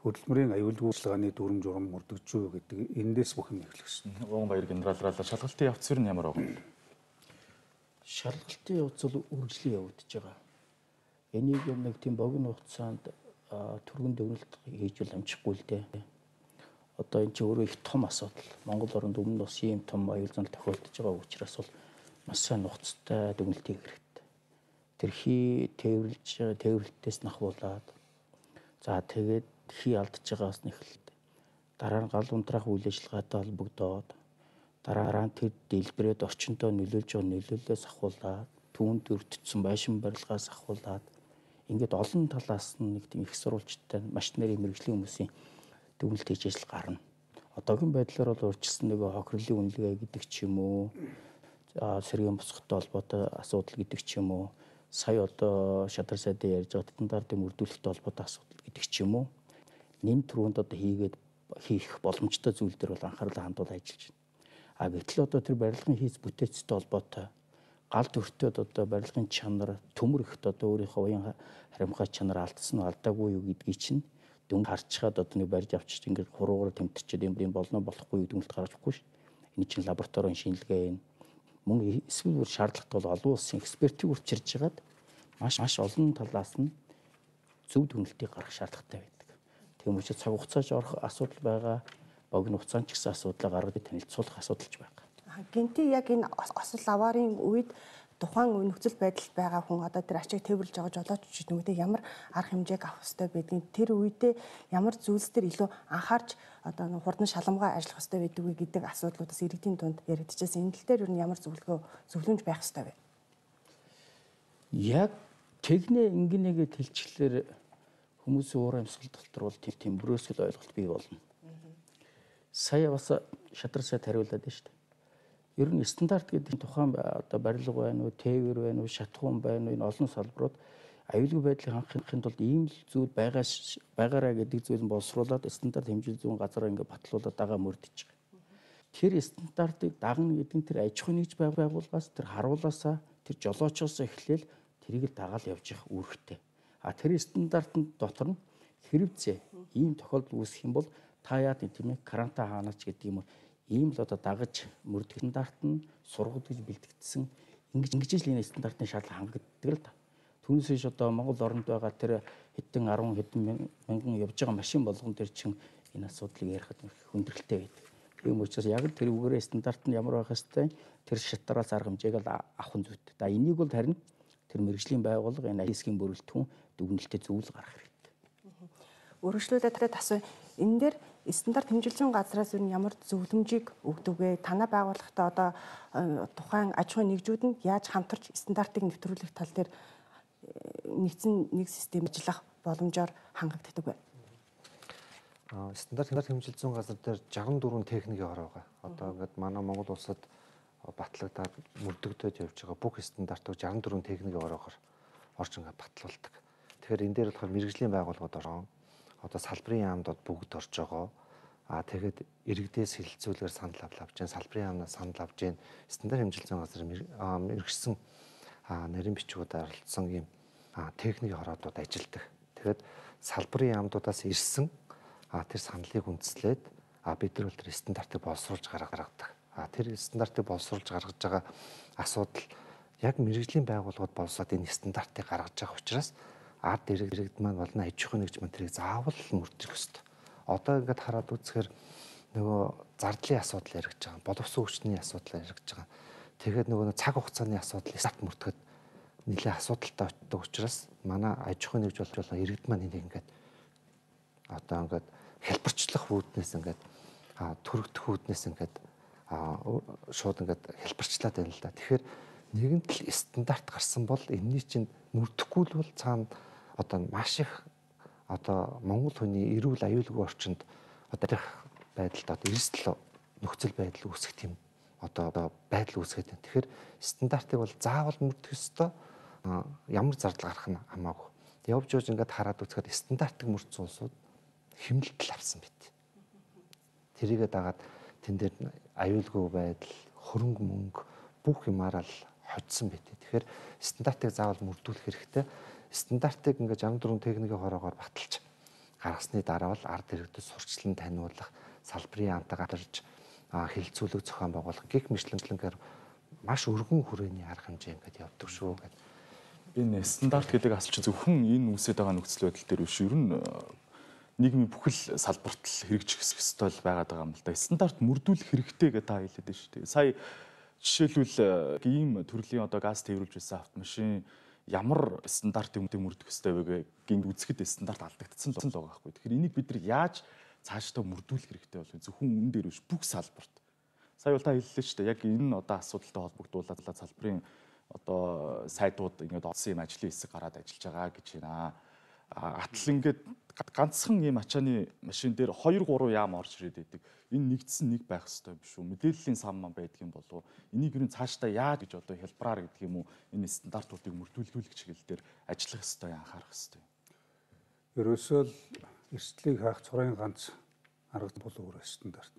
Speaker 4: хөдөлмөрийн аюулгүй ажиллагааны дүрм журам мөрдөгчөө гэдэг эндээс бүх юм эхлэх шин.
Speaker 1: Уган баяр генералраа шалгалтын явц нь ямар байна?
Speaker 6: Шалгалтын явц бол үргэлжлэн явагдаж байгаа. Энийг нэг тийм богино хугацаанд түргэн дүгнэлт хийж бол амжихгүй л дээ. Одоо энэ чинь өөрөө их том асуудал. Монгол оронд өмнө бас ийм том аюул занал тохиолдож байгаа учраас бол маш сайн нухацтай дүгнэлт хийх хэрэгтэй. Тэрхий тээвэрлж тээвэрлэлтээс нахвуулаад за тэгээд хий алдж байгаас нь эхэлдэг. Дараа нь гал унтраах үйл ажиллагаатай холбогдоод дараа нь тэр дэлбэрээд орчиндөө нөлөөлж байгаа нөлөөллөөс ахуулаад түүнд өртсөн байшин барилгаас ахуулаад ингээд олон талаас нь нэг тийм их сурвалжтай маш нэрийн мэрэгжлийн хүмүүсийн дүгнэлт хийж ажил гарна. Одоогийн байдлаар бол урьдчилсан нөгөө хохирлын үнэлгээ гэдэг ч юм уу, сэргийн босгохтой холбоотой асуудал гэдэг ч юм уу, сая одоо шадар сайдын ярьж байгаа стандартын мөрдүүлэлттэй холбоотой асуудал гэдэг ч юм уу, нэн түрүүнд одоо хийгээд хийх боломжтой зүйл дээр бол анхаарлаа хандуул ажиллаж байна. А гэтэл одоо тэр барилгын хийц бүтээцтэй холбоотой гал төртөд одоо барилгын чанар төмөр ихт одоо өөрийнхөө уян харимхай чанар алдсан уу алдаагүй юу гэдгийг чинь дүнг харчаад одоо нэг барьж авчиж ингээд хуруугаар тэмтэрчээд юм юм болно болохгүй дүнэлт гаргаж өгөхгүй шүү. Энэ чинь лабораторийн шинжилгээ юм. Мөн эсвэл бүр шаардлагатай бол олон улсын экспертийг үрчирж хагаад маш маш олон талаас нь зөв дүнэлтийг гаргах шаардлагатай байдаг. Тийм учраас цаг хугацааж орох асуудал байгаа, богино хугацаанд ч гэсэн асуудлаа гаргаж танилцуулах асуудалч байгаа.
Speaker 3: Гинти яг энэ осол аваарын үед тухайн нөхцөл байдалд байгаа хүн одоо тэр ачааг тээвэрлж байгаа жолооч ч нүгдээ ямар арга хэмжээг авах ёстой байдгийг тэр үедээ ямар зүйлс төр илүү анхаарч одоо хурдан шаламгаа ажиллах ёстой байдаг вэ гэдэг асуудлуудаас иргэдийн дунд яригдчихсэн. Энэ тал дээр юу ямар зөвлөгөө зөвлөмж байх ёстой вэ?
Speaker 6: Яг технэ ингэнэгээ тэлчлэлээр хүмүүсийн уур амьсгал дотор бол тийм бүрөөсгөл ойлголт бий болно. Сая бас шадар сайд хариулаад байна шүү дээ. Ер нь стандарт гэдэг тухайн одоо барилга байна уу, тээвэр байна уу, шатхуун байна уу, энэ олон салбарууд аюулгүй байдлыг хангахын тулд ийм л зүйл байгаа байгаараа гэдэг зүйл нь боловсруулад стандарт хэмжээ зүйн газараа ингээд батлуулаад байгаа мөрдөж байгаа. Тэр стандартыг дагна гэдэг нь тэр аж ахуйн нэгж байгууллагаас тэр харуулаасаа тэр жолоочоос эхлээл тэрийг л дагаал явж явах үүрэгтэй. А тэр стандартын дотор нь хэрэгцээ ийм тохиолдол үүсэх юм бол та яа тийм ээ каранта хаанач гэдэг юм уу ийм л одоо дагаж мөрдөх стандарт нь сургууд гэж бэлтгэгдсэн ингэж ингэж л энэ стандартын шаардлага хангагддаг л да. Түүнээс биш одоо Монгол оронд байгаа тэр хэдэн арван хэдэн мянган явж байгаа машин болгон төр чин энэ асуудлыг ярихад хүндрэлтэй байдаг. Тийм учраас яг л тэр үгээр стандарт нь ямар байх хэвтэй тэр шатараас арга хэмжээг л авах нь зүйтэй. За энийг бол харин тэр мэрэгжлийн байгууллага энэ хэсгийн бүрэлдэхүүн дүгнэлтэд зөвлөл гаргах хэрэгтэй.
Speaker 3: Өргөжлүүлээд асуу энэ дээр стандарт хэмжилзүүн газраас юу ямар зөвлөмжийг өгдөг вэ? Танай байгууллагатай одоо тухайн аж ахуйн нэгжүүд нь яаж хамтарч стандартыг нэвтрүүлэх тал дээр нэгдсэн нэг систем ажиллах боломжоор хангагддаг вэ?
Speaker 5: Аа стандарт хэмжилзүүн газар дээр жагсан дөрвөн техникийн хор байгаа. Одоо ингээд манай Монгол улсад батлагдаад мөрдөгдөж явж байгаа бүх стандартыг жагсан дөрвөн техникийн хороор орж ингээд батлуулдаг. Тэгэхээр энэ дээр болохоор мэрэгжлийн байгууллагууд ороо одоо салбарын яамдууд бүгд орж байгаа. Аа тэгэхэд иргэдээс хилцүүлгээр санал авч जैन салбарын яамнаас санал авч जैन стандарт хэмжилзүүн газар мэрэгсэн нарийн бичгүүд оролцсон ийм техникийн хороодууд ажилладаг. Тэгэхээр салбарын яамдуудаас ирсэн тэр саналыг үндэслээд бид нар бол тэр стандартыг боловсруулж гаргадаг. Тэр стандартыг боловсруулж гаргаж байгаа асуудал яг мэрэгжлийн байгууллагууд боловсроод энэ стандартыг гаргаж байгаа учраас ард иргэд маань болон аж ахуйн нэгж маань тэрийг заавал мөрдөх ёстой. Одоо ингээд хараад үзэхээр нөгөө зардлын асуудал яригдж байгаа, боловсон хүчний асуудал яригдж байгаа. Тэгээд нөгөө цаг хугацааны асуудал старт мөрдөхөд нэлээд асуудалтай очдог учраас манай аж ахуйн нэгж болон иргэд маань энийг ингээд одоо ингээд хэлбэрчлэх үүднээс ингээд төрөгдөх үүднээс ингээд шууд ингээд хэлбэрчлээд байна л да. Тэгэхээр нэгэнт л стандарт гарсан бол энэний чинь мөрдөхгүй л бол цаана одоо маш их одоо Монгол хүний эрүүл аюулгүй орчинд одоо их байдалд одоо эрсдэл нөхцөл байдал үүсэх тийм одоо одоо байдал үүсгээд байна. Тэгэхээр стандартыг бол заавал мөрдөх ёстой. Ямар зардал гарах нь хамаагүй. Явж явж ингээд хараад үзэхэд стандартыг мөрдсөн улсууд хэмнэлтэл авсан байт. Тэрийгээ дагаад тэн дээр аюулгүй байдал, хөрөнгө мөнгө бүх юмараа л хоцсон байт. Тэгэхээр стандартыг заавал мөрдүүлэх хэрэгтэй. Стандартыг ингээд жагсан дөрвөн техникийн хороогоор баталж гаргасны дараа бол ард иргэдэд сурчлан таниулах, салбарын яамтай гарч хилцүүлэг зохион байгуулах гих мэтлэнгээр маш өргөн хүрээний арга хэмжээ ингээд явдаг шүү гэдэг.
Speaker 1: Энэ стандарт гэдэг асуулт зөвхөн энэ үүсэж байгаа нөхцөл байдал дээр биш, ер нь нийгмийн бүхэл салбарт л хэрэгжих ёстой л байгаад байгаа юм л да. Стандарт мөрдүүлэх хэрэгтэй гэдэг та хэлээд байна шүү дээ. Сая жишээлбэл ийм төрлийн одоо газ тээвэрлж байсан автомашин ямар стандартыг мөрдөх ёстой вэ гэнг үзэхэд стандарт алдагдсан л байгаа байхгүй. Тэгэхээр энийг бид нар яаж цаашдаа мөрдүүлэх хэрэгтэй болов? Зөвхөн үнэн дээр биш, бүх салбарт. Сая бол та хэллээ шүү дээ. Яг энэ одоо асуудалтай холбогдуулаад салбарын одоо сайдууд ингээд олсон юм ажлын хэсэг гараад ажиллаж байгаа гэж байна. Атал ингээд ганцхан ийм ачааны машин дээр хоёр гурван яам орж ирээд байдаг. Энэ нэгдсэн нэг байх ёстой биш үү? Мэдээллийн сан ман байдаг юм болов уу? Энийг юу цаашдаа яаж гэж одоо хэлбараар гэдэг юм уу? Энэ стандартуудыг мөрдүүлүүлэх чиглэл дээр ажиллах ёстой, анхаарах ёстой.
Speaker 4: Ерөөсөө л эрсдлийг хаах цорын ганц арга бол өөр стандарт.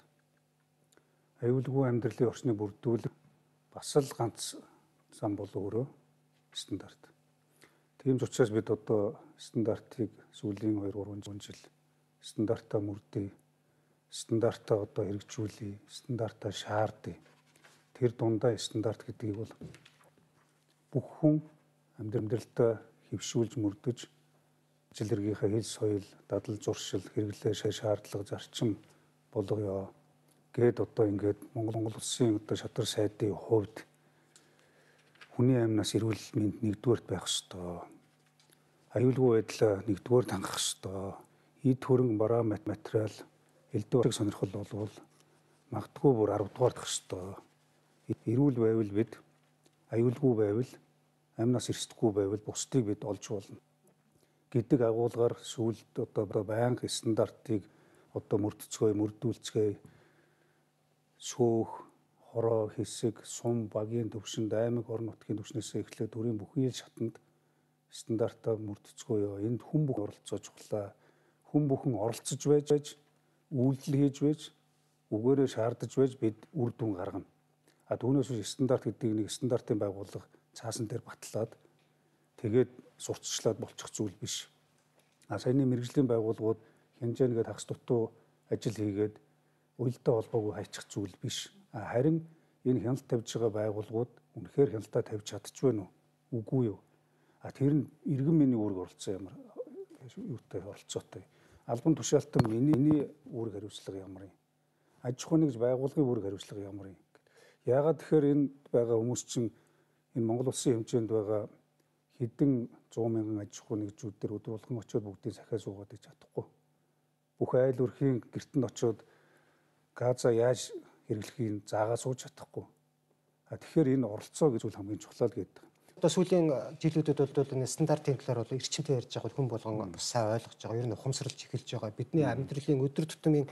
Speaker 4: Аюулгүй амьдралын орчныг бүрдүүлэх бас л ганц зам бол өөрөө стандарт. Тийм ч учраас бид одоо стандартыг сүүлийн хоёр гурван жил стандартаа мөрдөе, стандартаа одоо хэрэгжүүлье, стандартаа шаардъя. Тэр дундаа стандарт гэдгийг бол бүх хүн амьдралдаа хэвшүүлж мөрдөж ажил хэргийнхээ хэл соёл, дадал зуршил, хэрэглээ шаардлага, зарчим болгоё гэд одоо ингээд Монгол улсын одоо шадар сайдын хувьд хүний амнаас эрүүл мэнд нэгдүгээрт байх ёстой. Аюулгүй байдал нэгдүгээр хангах ёстой. Эд хөрөнгө бараа материал элдв сонирхол болвол магадгүй бүр арав дугаар дах ёстой. Эрүүл байвал бид аюулгүй байвал амнаас эрсдэхгүй байвал бусдыг бид олж болно гэдэг агуулгаар сүүлд одоо байнга стандартыг одоо мөрдөцгөө мөрдүүлцгээе сөөх хороо хэсэг сум багийн төвшөнд аймаг орон нутгийн төвшнөөс эхлээд төрийн бүхий л шатанд стандартаа мөрдөцгөөё. Энд хүн бүх оролцож чухлаа. Хүн бүхэн оролцож байж үйлдэл хийж байж үгээрээ шаардаж байж бид үр дүн гаргана. А түүнээс биш стандарт гэдэг нэг стандартын байгууллага цаасан дээр батлаад тэгээд сурталчлаад болчих зүйл биш. А саяны мэрэгжлийн байгууллагууд хянжээгээд хагас дутуу ажил хийгээд уялдаа холбоогүй хайчих зүйл биш. А харин энэ хяналт тавьж байгаа байгууллагууд үнэхээр хяналтаа тавьж чадчихвэ нү? Үгүй юу? А тэр нь иргэн миний үүрэг оролцсон ямар юутай оролцоотой. Албан тушаалтан миний үүрэг хариуцлага ямар юм? Аж ахуйн нэгж байгууллагын үүрэг хариуцлага ямар юм? Яагаад тэгэхээр энд байгаа хүмүүс чинь энэ Монгол улсын хэмжээнд байгаа хэдэн зуун мянган аж ахуй нэгжүүд дээр өдөр болгон очиод бүгдийг сахиа суугаад иж чадахгүй. Бүх айл өрхийн гэртэнд очиод газа яаж хэрэглэхийг заагаа сууж чадахгүй. А тэгэхээр энэ оролцоо гэж үл хамгийн чухал гэдэг.
Speaker 2: Одоо сүүлийн жилүүдэд бол энэ стандартын талаар бол эрчимтэй ярьж байгаа хүн болгон сайн ойлгож байгаа. Ер нь ухамсарлж эхэлж байгаа. Бидний амьдралын өдөр тутмын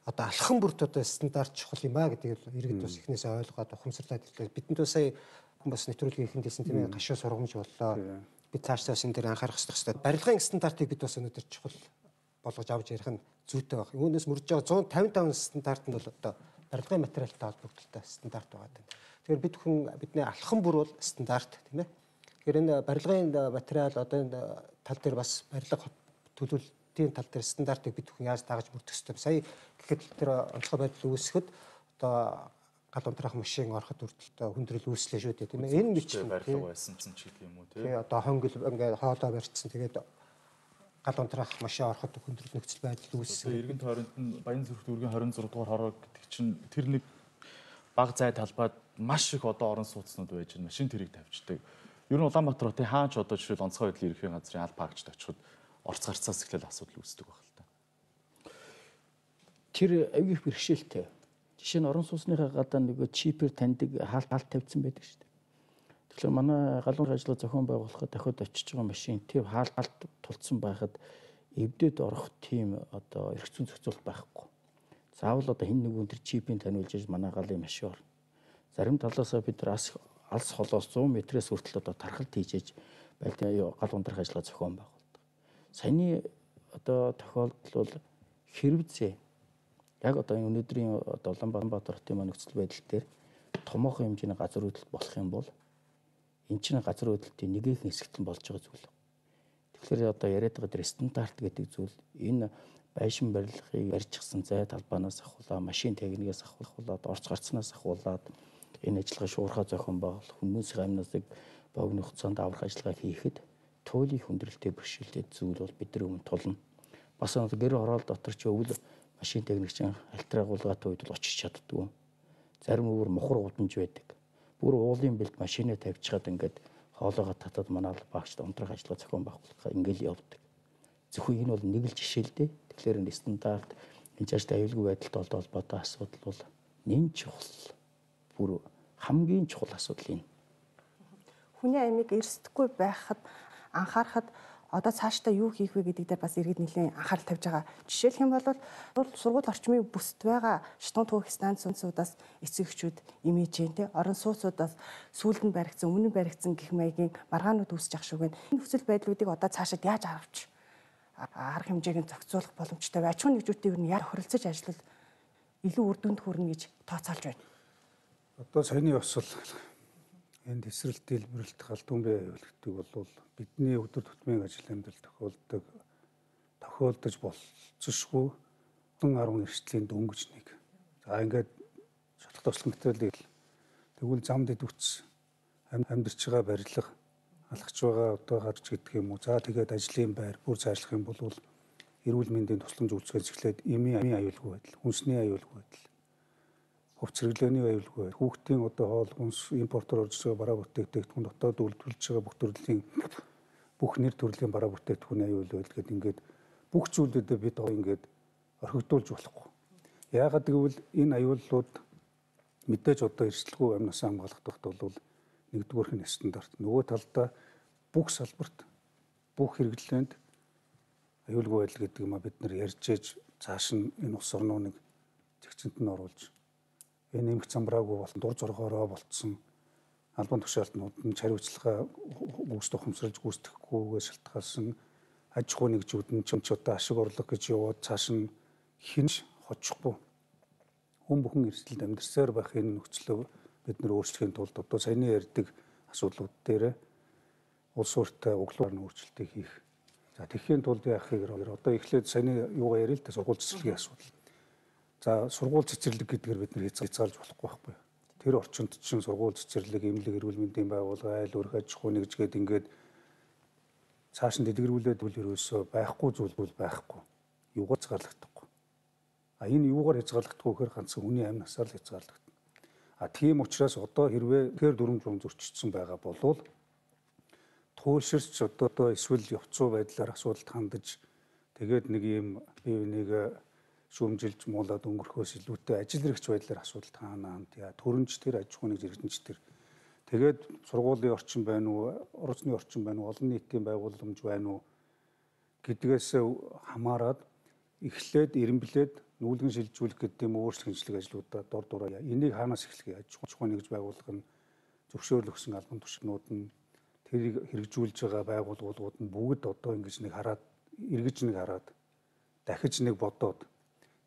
Speaker 2: одоо алхам бүрт одоо стандарт чухал юм а гэдгийг иргэд бас эхнээсээ ойлгоод ухамсарлаад ирлээ. Бидэнд сая хүн бас нэвтрүүлгийн ихэнд хэлсэн тийм ээ гашуу сургамж боллоо. Бид цаашдаа бас энэ дээр анхаарах хэрэгтэй. Барилгын стандартыг бид бас өнөөдөр чухал болгож авч ярих нь зүйтэй байна. Үүнээс мөрж байгаа one fifty-five стандарт нь бол одоо барилгын материалтай холбогдолтой стандарт байгаа юм. Тэгэхээр бид хүн бидний алхам бүр бол стандарт тийм ээ. Тэгэхээр энэ барилгын материал одоо энэ тал дээр бас барилга төлөвлөлтийн тал дээр стандартыг бид хүн яаж дагаж мөрдөх ёстой. Сая гэхэд тэр онцгой байдал үүсгэхэд одоо гал унтраах машин ороход хүртэл хүндрэл үүслээ шүү дээ тийм ээ. Энэ мэт
Speaker 1: барилга байсан ч гэдэг юм уу тийм.
Speaker 2: Тэгээ одоо хонгил ингээд хоолоо барьцсан тэгээд гал унтраах машин ороход хүндрэл нөхцөл байдал үүссэн.
Speaker 1: Иргэн тойронд нь Баян зүрх дүүргийн twenty six дугаар хороо гэдэг чинь тэр нэг баг зай талбайд маш их одоо орон сууцнууд байж байна. Машин тэрийг тавьчихдаг. Ер нь Улаанбаатар хотын хаач одоо жишээл онцгой байдлын ерөнхий газрын аль паркчд очиход орц гарцаас эхлээл асуудал үүсдэг баг л та.
Speaker 6: Тэр аюул их бэрхшээлтэй. Жишээ нь орон сууцныхаа гадаа нөгөө чипээр таньдаг хаалт хаалт тавьсан байдаг шүү дээ. Тэгэхээр манай галуун ажлаа зохион байгуулахад дахиад очиж байгаа машин тэр хаалт хаалт тулцсан байхад эвдээд орох тийм одоо эрх зүйн зохицуулалт байхгүй. Заавал одоо хэн нэгэн тэр чипийг таниулж иж манай галын машин орно. Зарим талаасаа бид алс алс холоос one hundred метрээс хүртэл одоо тархалт хийж байлтын гал ундрах ажлаа зохион байгуулдаг. Саяны одоо тохиолдол бол хэрвээ яг одоо энэ өнөөдрийн одоо Улаанбаатар хотын нөхцөл байдал дээр томоохон хэмжээний газар хөдлөлт болох юм бол энэ чинь газар хөдлөлтийн нэгэн хэсэгт нь болж байгаа зүйл. Тэгэхээр одоо яриад байгаа стандарт гэдэг зүйл энэ байшин барилгыг барьчихсан зай талбаанаас ахуулаад машин техникээс ахуулаад орц гарцнаас ахуулаад энэ ажиллагаа шуурхай зохион байгуулах хүмүүсийн амнасыг богино хугацаанд аврах ажиллагаа хийхэд туйлын хүндрэлтэй бэрхшээлтэй зүйл бол бидний өмнө тулна. Бас гэр хороол дотор ч өвөл машин техникчин альтер агуулгаатай үед л очиж чаддгүй. Зарим өөр мухар удамж байдаг. Бүр уулын бэлд машинаа тавьчихад ингээд хоолоогоо татаад манаа багшд унтрах ажиллагаа зохион байгуулах ингээл явдаг. Зөвхөн энэ бол нэг л жишээ л дээ. Тэгэхээр энэ стандарт энэ чашд аюулгүй байдалтай холбоотой асуудал бол нэн чухал. Бүр хамгийн чухал асуудал энэ.
Speaker 3: Хүний амийг эрсдэхгүй байхад анхаарахад одоо цаашдаа юу хийх вэ гэдэг дээр бас иргэд нэлийн анхаарал тавьж байгаа. Жишээлх юм бол сургууль орчмын бүсд байгаа шатун түүх станцуудаас эцэг эхчүүд имиж जैन те орон сууцудаас сүүлд нь баригдсан, өмнө нь баригдсан гэх маягийн маргаанууд үүсэж ах шүүг. Энэ нөхцөл байдлуудыг одоо цаашид яаж авч арга хэмжээг нь зохицуулах боломжтой вэ? Аж ахуйн нэгжүүдтэй юу яг хорилцож ажиллавал илүү үр дүнд хүрнэ гэж тооцоолж байна.
Speaker 4: Одоо саяны бас л энэ тесрэлт дэлбэрэлт галдуун бай гэдэг бол бидний өдөр тутмын ажил амьдрал тохиолдог тохиолдож болцсошгүй арван эрсдлийн дөнгөж нэг. За ингээд шатлах туршлага материалыг тэгвэл замд идэвхц амьдарч байгаа барилга алхаж байгаа одоо гарч гэдэг юм уу. За тэгээд ажлын байр бүр зайлшгүй юм бол эрүүл мэндийн тусламж үйлчилгээнээс эхлээд эмийн аюулгүй байдал, хүнсний аюулгүй байдал, хувц хэрэглээний аюулгүй байдал, хүүхдийн одоо хоол хүнс импортоор орж байгаа бараа бүтээгдэхүүн дотоод үйлдвэрлэж байгаа бүх төрлийн бүх нэр төрлийн бараа бүтээгдэхүүний аюулгүй байдал гэдэг ингээд бүх зүйлүүдэд бид ингээд орхигдуулж болохгүй. Яагаад гэвэл энэ аюуллууд мэдээж одоо эрсдэлгүй амь насаа хамгаалахдагт бол нэгдүгээрх нь стандарт. Нөгөө талдаа бүх салбарт бүх хэрэглээнд аюулгүй байдал гэдэг юм а бид нар ярьж ээж цааш нь энэ улс орныг зэгцэнт нь оруулж энэ нэмэх замбраагүй болон дур зоргоороо болцсон албан тушаалтнууд нь хариуцлага гүйцэтгэх ухамсарлаж гүйцэтгэхгүйгээс шалтгаалсан аж ахуй нэгжүүд нь ч одоо ашиг орлого гэж яваад цааш нь хинж хоцохгүй хүн бүхэн эрсдэлд амьдарсаар байх энэ нөхцөлөө бид нэр өөрчлөхийн тулд одоо саяны ярьдаг асуудлууд дээр улс ууртай углуур өөрчлөлтийг хийх. За тэгэхийн тулд яах гэхээр одоо эхлээд саяны юугаа ярил л да сургууль цэцэрлэгийн асуудал. За сургууль цэцэрлэг гэдгээр бид нэр хязгаарлаж болохгүй байхгүй. Тэр орчинд чинь сургууль цэцэрлэг, эмнэлэг, эрүүл мэндийн байгууллага, айл өрх аж ахуй нэгж гээд ингээд цааш нь дэлгэрүүлээд үл ерөөсөө байхгүй зүйл бол байхгүй. Юугаар хязгаарлагдахгүй. А энэ юугаар хязгаарлагдахгүй гэхээр ганцхан хүний амь насаар л хязгаарлагдана. А тийм учраас одоо хэрвээ тэр дүрм журм зөрчигдсөн байгаа болвол туйлширч одоо эсвэл явцуу байдлаар асуудалд хандаж тэгээд нэг юм бие биенийг шүүмжилж муулаад өнгөрөхөөс илүүтэй ажил хэрэгч байдлаар асуудалд хаана яа төрөнч тэр аж ахуйн зэрэгдэнч тэр тэгээд сургуулийн орчин байна уу, орчны орчин байна уу, олон нийтийн байгууламж байна уу гэдгээс хамаарад эхлээд эренблээд нүүлгэн шилжүүлэх гэдэг юм өөрчлөлт хэмжлэг ажлуудаа дор дороо энийг хаанаас эхлэхээ аж ахуйн нэгж байгууллага нь зөвшөөрөл өгсөн албан тушаалнууд нь тэрийг хэрэгжүүлж байгаа байгууллагууд нь бүгд одоо ингэж нэг хараад эргэж нэг хараад дахиж нэг бодоод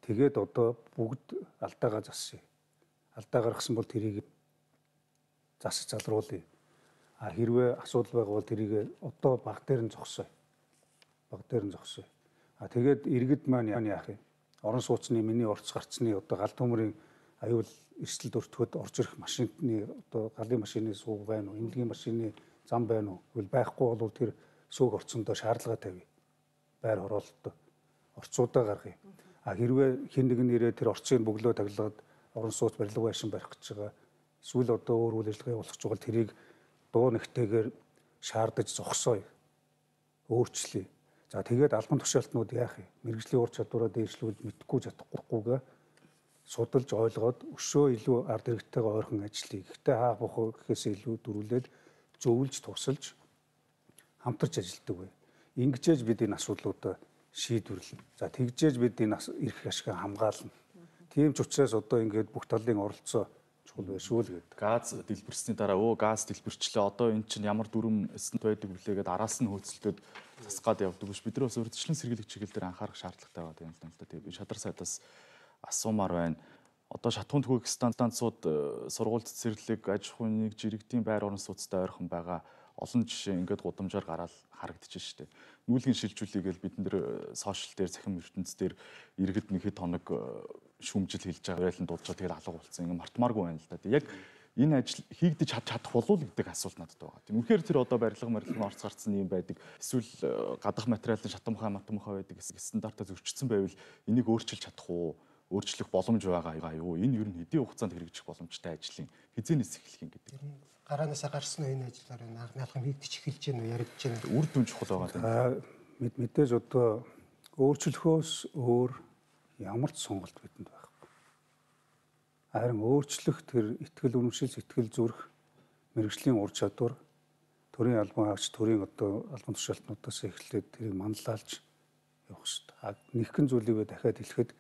Speaker 4: тэгээд одоо бүгд алдаагаа засъя. Алдаа гаргасан бол тэрийг засаж залруулъя. А хэрвээ асуудал байгаа бол тэрийг одоо баг дээр нь зогсоё. Баг дээр нь зогсоё. А тэгээд иргэд маань яах юм? Орон сууцны миний орц гарцны одоо галт төмрийн аюул эрсдэлд өртгөхөд орж ирэх машины одоо галын машины сууг байна уу, эмнэлгийн машины зам байна уу? Тэгвэл байхгүй бол тэр сууг орцондоо шаардлага тавья. Байр хороолттой орцуудаа гаргая. А хэрвээ хэн нэгэн нэрээ тэр орцыг бөглөө таглаад орон сууц барилга байшин барих гэж байгаа эсвэл одоо өөр үйл ажиллагаа явуулах байгаа тэрийг дуу нэгтэйгээр шаардаж зогсоё. Өөрчлөе. За тэгээд албан тушаалтнууд яах юм? Мэргэжлийн ур чадвараа дээшлүүлж мэдхгүй чадахгүйгээ судалж ойлгоод өшөө илүү ард иргэдтэйгээ ойрхон ажиллая. Гэхдээ хаа бохоо гэхээс илүү дөрвөлээд зөвлөж тусалж хамтарч ажилладаг бай. Ингэжээж бид энэ асуудлуудаа шийдвэрлэнэ. За тэгжээж бид энэ эрх ашиг хамгаална. Тийм ч учраас одоо ингээд бүх талын оролцоо чухал байшгүй л гэдэг.
Speaker 1: Газ дэлбэрсний дараа өө газ дэлбэрчлээ. Одоо эн чинь ямар дүрм эсэнт байдаг вүлээгээд араас нь хөөцөлтөд засгаад явдаг биш. Бид нөөс урьдчилан сэргийлэх чиглэл дээр анхаарах шаардлагатай байгаа юм л да. Тэгээ би шадар сайдаас асуумаар байна. Одоо шатхуун төгөөг станцууд сургууль цэцэрлэг, аж ахуйн нэгж иргэдийн байр орон сууцтай ойрхон байгаа олон жишээ ингээд гудамжаар гараад харагдчихж штэ. Нүүлгэн шилжүүлээгээл бид нэр сошиал дээр захим ертөнц дээр иргэд нэг хэд хоног шүүмжил хэлж байгаа байлан дуудаж тэгээд алга болсон. Ингээ мартмааргүй байна л да. Яг энэ ажил хийгдэж чадах болов уу гэдэг асуулт надад байгаа. Тийм үнэхээр тэр одоо барилга барилгын орц гарцсан юм байдаг. Эсвэл гадах материалын шатамхай матамхай байдаг стандартаа зөрчигдсөн байвал энийг өөрчилж чадах уу? Өөрчлөх боломж байгаа юу? Энэ ер нь хэдийн хугацаанд хэрэгжих боломжтой ажлын хизээнээс эхлэх юм гэдэг.
Speaker 2: Гараанасаа гарсан уу энэ ажиллаар энэ анхны алхам хийгдэж эхэлж байна уу? Яригдж байна.
Speaker 1: Үр дүн чухал байгаа юм.
Speaker 4: Мэдээж одоо өөрчлөхөөс өөр ямар ч сонголт бидэнд байхгүй. Харин өөрчлөх тэр итгэл үнэмшил, сэтгэл зүрх, мэрэгжлийн ур чадвар, төрийн албан хаагч, төрийн одоо албан тушаалтнуудаас эхлээд тэрийг манлайлж явах хэрэгтэй. Нэгэн зүйлийг дахиад хэлэхэд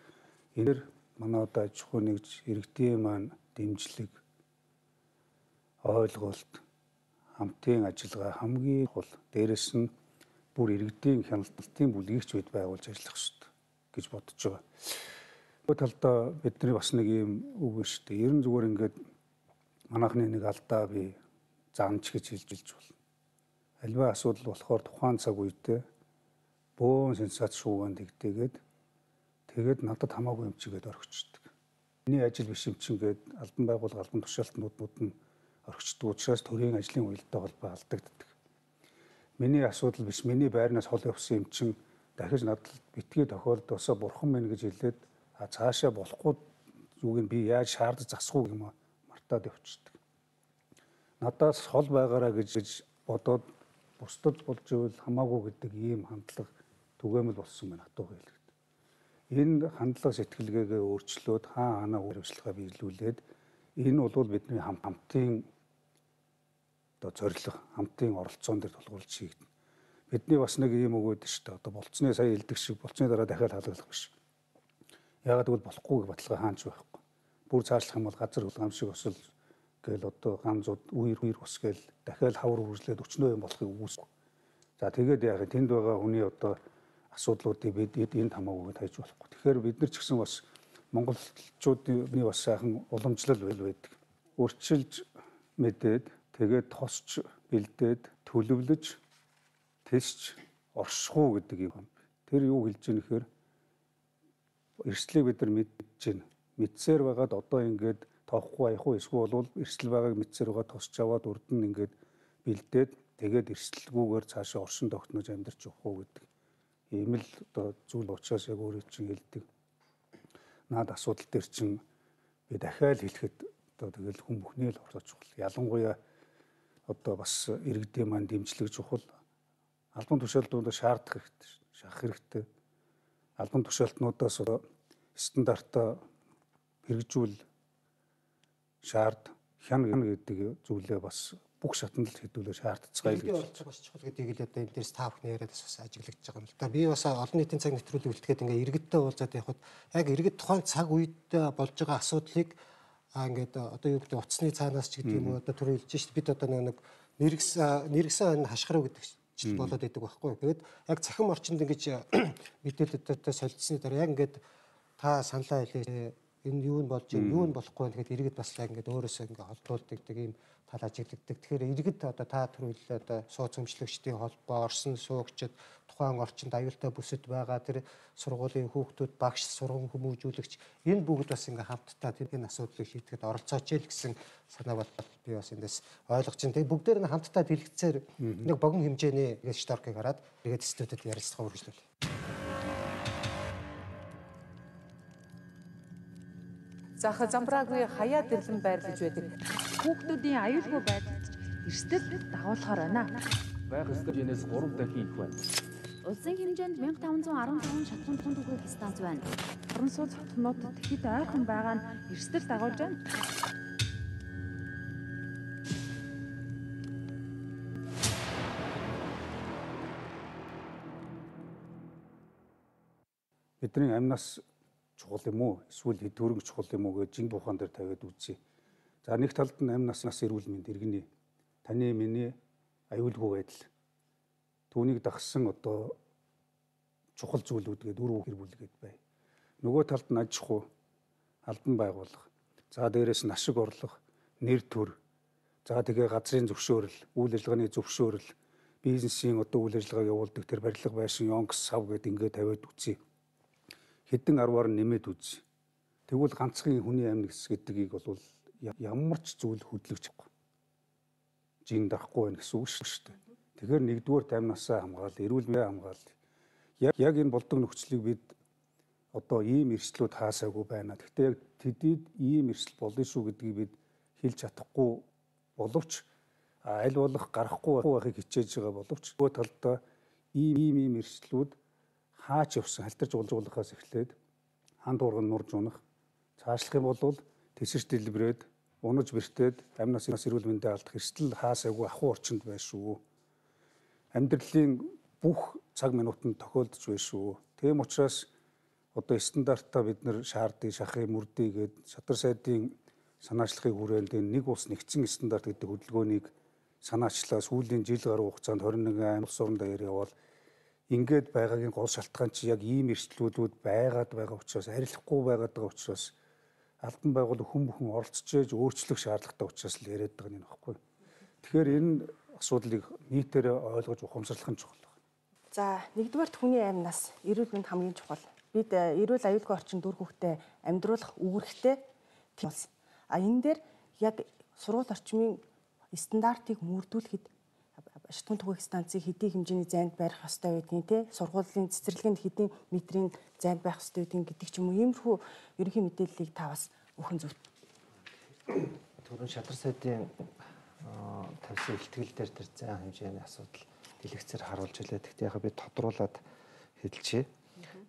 Speaker 4: энээр манай одоо аж ахуй нэгж иргэдийн маань дэмжлэг, ойлголт, хамтын ажиллагаа хамгийн гол дээрэс нь бүр иргэдийн хяналтын бүлгийгч бид байгуулж ажиллах хэрэгтэй гэж бодож байгаа. Нөгөө талдаа бидний бас нэг юм үг байна шүү дээ. Ерөн зүгээр ингээд манайхны нэг алдаа би заанч гэж хэлж илж болно. Альва асуудал болохоор тухайн цаг үедээ бөөн сенсац шуугаан тэгдээгээд тэгээд надад хамаагүй юм чигээд орхичдөг. Миний ажил биш юм чин гээд албан байгууллага албан тушаалтнууд нь орхичдөг учраас төрийн ажлын уялдаа холбоо алдагддаг. Миний асуудал биш, миний байрнаас хол явсан юм чин дахиж надад битгий тохиолдосоо бурхан мэн гэж хэлээд а цаашаа болохгүй юуг нь би яаж шаардаж засах уу юм мартаад явчихдаг. Надаас хол байгаараа гэж бодоод бусдад болж ивэл хамаагүй гэдэг ийм хандлага түгээмэл болсон байна хатууга хэлэхэд. Энэ хандлага сэтгэлгээгээ өөрчлөөд хаа ханаа үргэлжлэхээ биелүүлээд энэ бол бидний хамтын одоо зорилго, хамтын оролцоон дээр тулгуурлаж хийгдэнэ. Бидний бас нэг ийм үг өгдөө шүү дээ. Одоо болцсны сая хэлдэг шиг болцсны дараа дахиад хаалгалах биш. Яагаад гэвэл болохгүй гэх баталгаа хаанч байхгүй. Бүр цаашлах юм бол газар хөлгөм шиг осол гээл одоо ганцуд үер үер ус гээл дахиад хавар үргэлжлээд өчнөө юм болохыг үүсв. За тэгээд яах вэ? Тэнд байгаа хүний одоо асуудлуудыг бид энд хамаагүй хайж болохгүй. Тэгэхээр бид нар ч гэсэн бас монголчуудын бас сайхан уламжлал байл байдаг. Өрчилж мэдээд тэгээд тосч бэлдээд төлөвлөж тэлж оршихуу гэдэг юм. Тэр юу хэлж ийн гэхээр эрсдлийг бид нар мэдж байна. Мэдсээр байгаад одоо ингээд тоохгүй аяхгүй эсвэл бол эрсдэл байгааг мэдсээр байгаа тосч аваад урд нь ингээд бэлдээд тэгээд эрсдэлгүйгээр цаашаа оршин тогтнож амьдарч явах уу гэдэг. Ийм л одоо зүйл учраас яг өөрөө чинь хэлдэг. Наад асуудал дээр чинь би дахиад хэлэхэд одоо тэгэл хүн бүхний л орж чухал. Ялангуяа одоо бас иргэдийн маань дэмжлэг чухал. Албан тушаалтнуудаа шаардах хэрэгтэй, шахах хэрэгтэй. Албан тушаалтнуудаас одоо стандартаа хэрэгжүүл шаард хян гэдэг зүйлээ бас бүх шатанд л хэдүүлээ шаардцгаая гэж
Speaker 2: болцоо бас чухал гэдгийг л одоо энэ дээрс та бүхний яриад бас ажиглагдж байгаа юм л да. Би бас олон нийтийн цаг нэвтрүүлэг үлдэхэд ингээ иргэдтэй уулзаад явхад яг иргэд тухайн цаг үед болж байгаа асуудлыг аа ингээд одоо юу гэдэг утасны цаанаас ч гэдэг юм уу одоо түрүү хэлж шít бид одоо нэг нэргсэн нэргсэн хашгирав гэдэг жил болоод идэг байхгүй. Тэгээд яг цахим орчинд ингэж мэдээлэлтэй солилцсны дараа яг ингээд та саналаа хэлээ энэ юу нь болж юм юу нь болохгүй байна гэхэд иргэд бас яг ингээд өөрөөсөө ингээд холдуулдаг ийм тал ажиглагддаг. Тэгэхээр иргэд одоо та түрүүлээ одоо сууц өмчлөгчдийн холбоо, орсон суугчид, тухайн орчинд аюултай бүсэд байгаа тэр сургуулийн хүүхдүүд, багш, сургууль хүмүүжүүлэгч энэ бүгд бас ингээд хамтдаа тэрний асуудлыг шийдэхэд оролцооч л гэсэн санаа бол би бас эндээс ойлгож байна. Тэгээ бүгдээр нь хамтдаа дэлгэцээр нэг богино хэмжээний шторкийг хараад иргэд студид ярилцлага үргэлжлүүлээ.
Speaker 7: Зах замбраагүй хаяа дэрлэн байрлаж байдаг.
Speaker 8: Хүүхдүүдийн аюулгүй байдалд эрсдэл дагуулахаар байна.
Speaker 9: Байх ёстой хэмжээс гурав дахин их байна.
Speaker 8: Улсын хэмжээнд мянга таван зуун арван таван шатхуун түүхий станц байна.
Speaker 10: Орон сууц хотнууд тэгэхэд ойрхон байгаа нь эрсдэл дагуулж байна.
Speaker 4: Бидний амнаас чухал юм уу эсвэл хэдвэрэн чухал юм уу гэж жин бухан дээр тавиад үзье. За нэг талд нь амнаас нас эрүүл мэнд иргэний таны миний аюулгүй байдал түүнийг дагсан одоо чухал зүйлүүд гээд үр гэр бүлгээд бай. Нөгөө талд нь аж ахуй албан байгууллага. За дээрэс нь ашиг орлого, нэр төр. За тэгээ газрын зөвшөөрөл, үйл ажиллагааны зөвшөөрөл, бизнесийн одоо үйл ажиллагаа явуулдаг тэр барилга байшин онгс сав гээд ингээд тавиад үзье. Хэдэн арваар нэмээд үз. Тэгвэл ганцхан хүний амьд гэдгийг бол ямар ч зүйл хөдлөгч чадахгүй. Жин дахгүй байх гэсэн үг шүү дээ. Тэгэхээр нэгдүгээр таймнасаа хамгаал, эрүүл мэндийн хамгаал. Яг яг энэ болдог нөхцөлийг бид одоо ийм эрсдлүүд хаасаагүй байна. Гэхдээ яг тэдэд ийм эрсдэл болно шүү гэдгийг бид хэлж чадахгүй боловч аль болох гарахгүй байхыг хичээж байгаа боловч нөгөө талдаа ийм ийм ийм эрсдлүүд хаач явсан халтарж уулзуулахаас эхлээд ханд урган нурж унах цаашлах юм бол тэсэрч дэлбрээд унаж бэртээд амнаас эрүүл мэндийн алдах эрсдэл хаасаагүй ахуй орчинд байна шүү. Амьдралын бүх цаг минутанд тохиолдож байна шүү. Тийм учраас одоо стандартаа бид нар шаардыг, шахыг, мөрдий гээд шатар сайдын санаачлагыг хүрээнд нэг улс нэгдсэн стандарт гэдэг хөдөлгөөнийг санаачлаа сүүлийн жил гаруй хугацаанд хорин нэгэн улс орон даяар явал ингээд байгаагийн гол шалтгаан чи яг ийм эрсдлүүд байгаад байгаа учраас арилахгүй байгаад байгаа учраас албан байгууллага хүн бүхэн оролцож ээж өөрчлөх шаардлагатай учраас л яриад байгаа юм аахгүй. Тэгэхээр энэ асуудлыг нийтээр ойлгож ухамсарлах нь чухал байна.
Speaker 3: За нэгдүгээр хүний амнаас эрүүл мэнд хамгийн чухал. Бид эрүүл аюулгүй орчин дүр хүүхдээ амьдруулах үүрэгтэй тийм болсон. А энэ дээр яг сургууль орчмын стандартыг мөрдүүлэхэд шатхуун түгээх станцыг хэдийн хэмжээний зайд барих ёстой байдгийг тий сургуулийн цэцэрлэгэнд хэдийн метрийн зайд байх ёстой байдгийг гэдэг ч юм уу иймэрхүү ерөнхий мэдээллийг та бас өхөн зөв.
Speaker 5: Түрүүн шадар сайдын тавьсан ихтгэл дээр тэр зайн хэмжээний асуудал дэлгэцээр харуулж илээ. Тэгтээ яг би тодруулаад хэлчихье.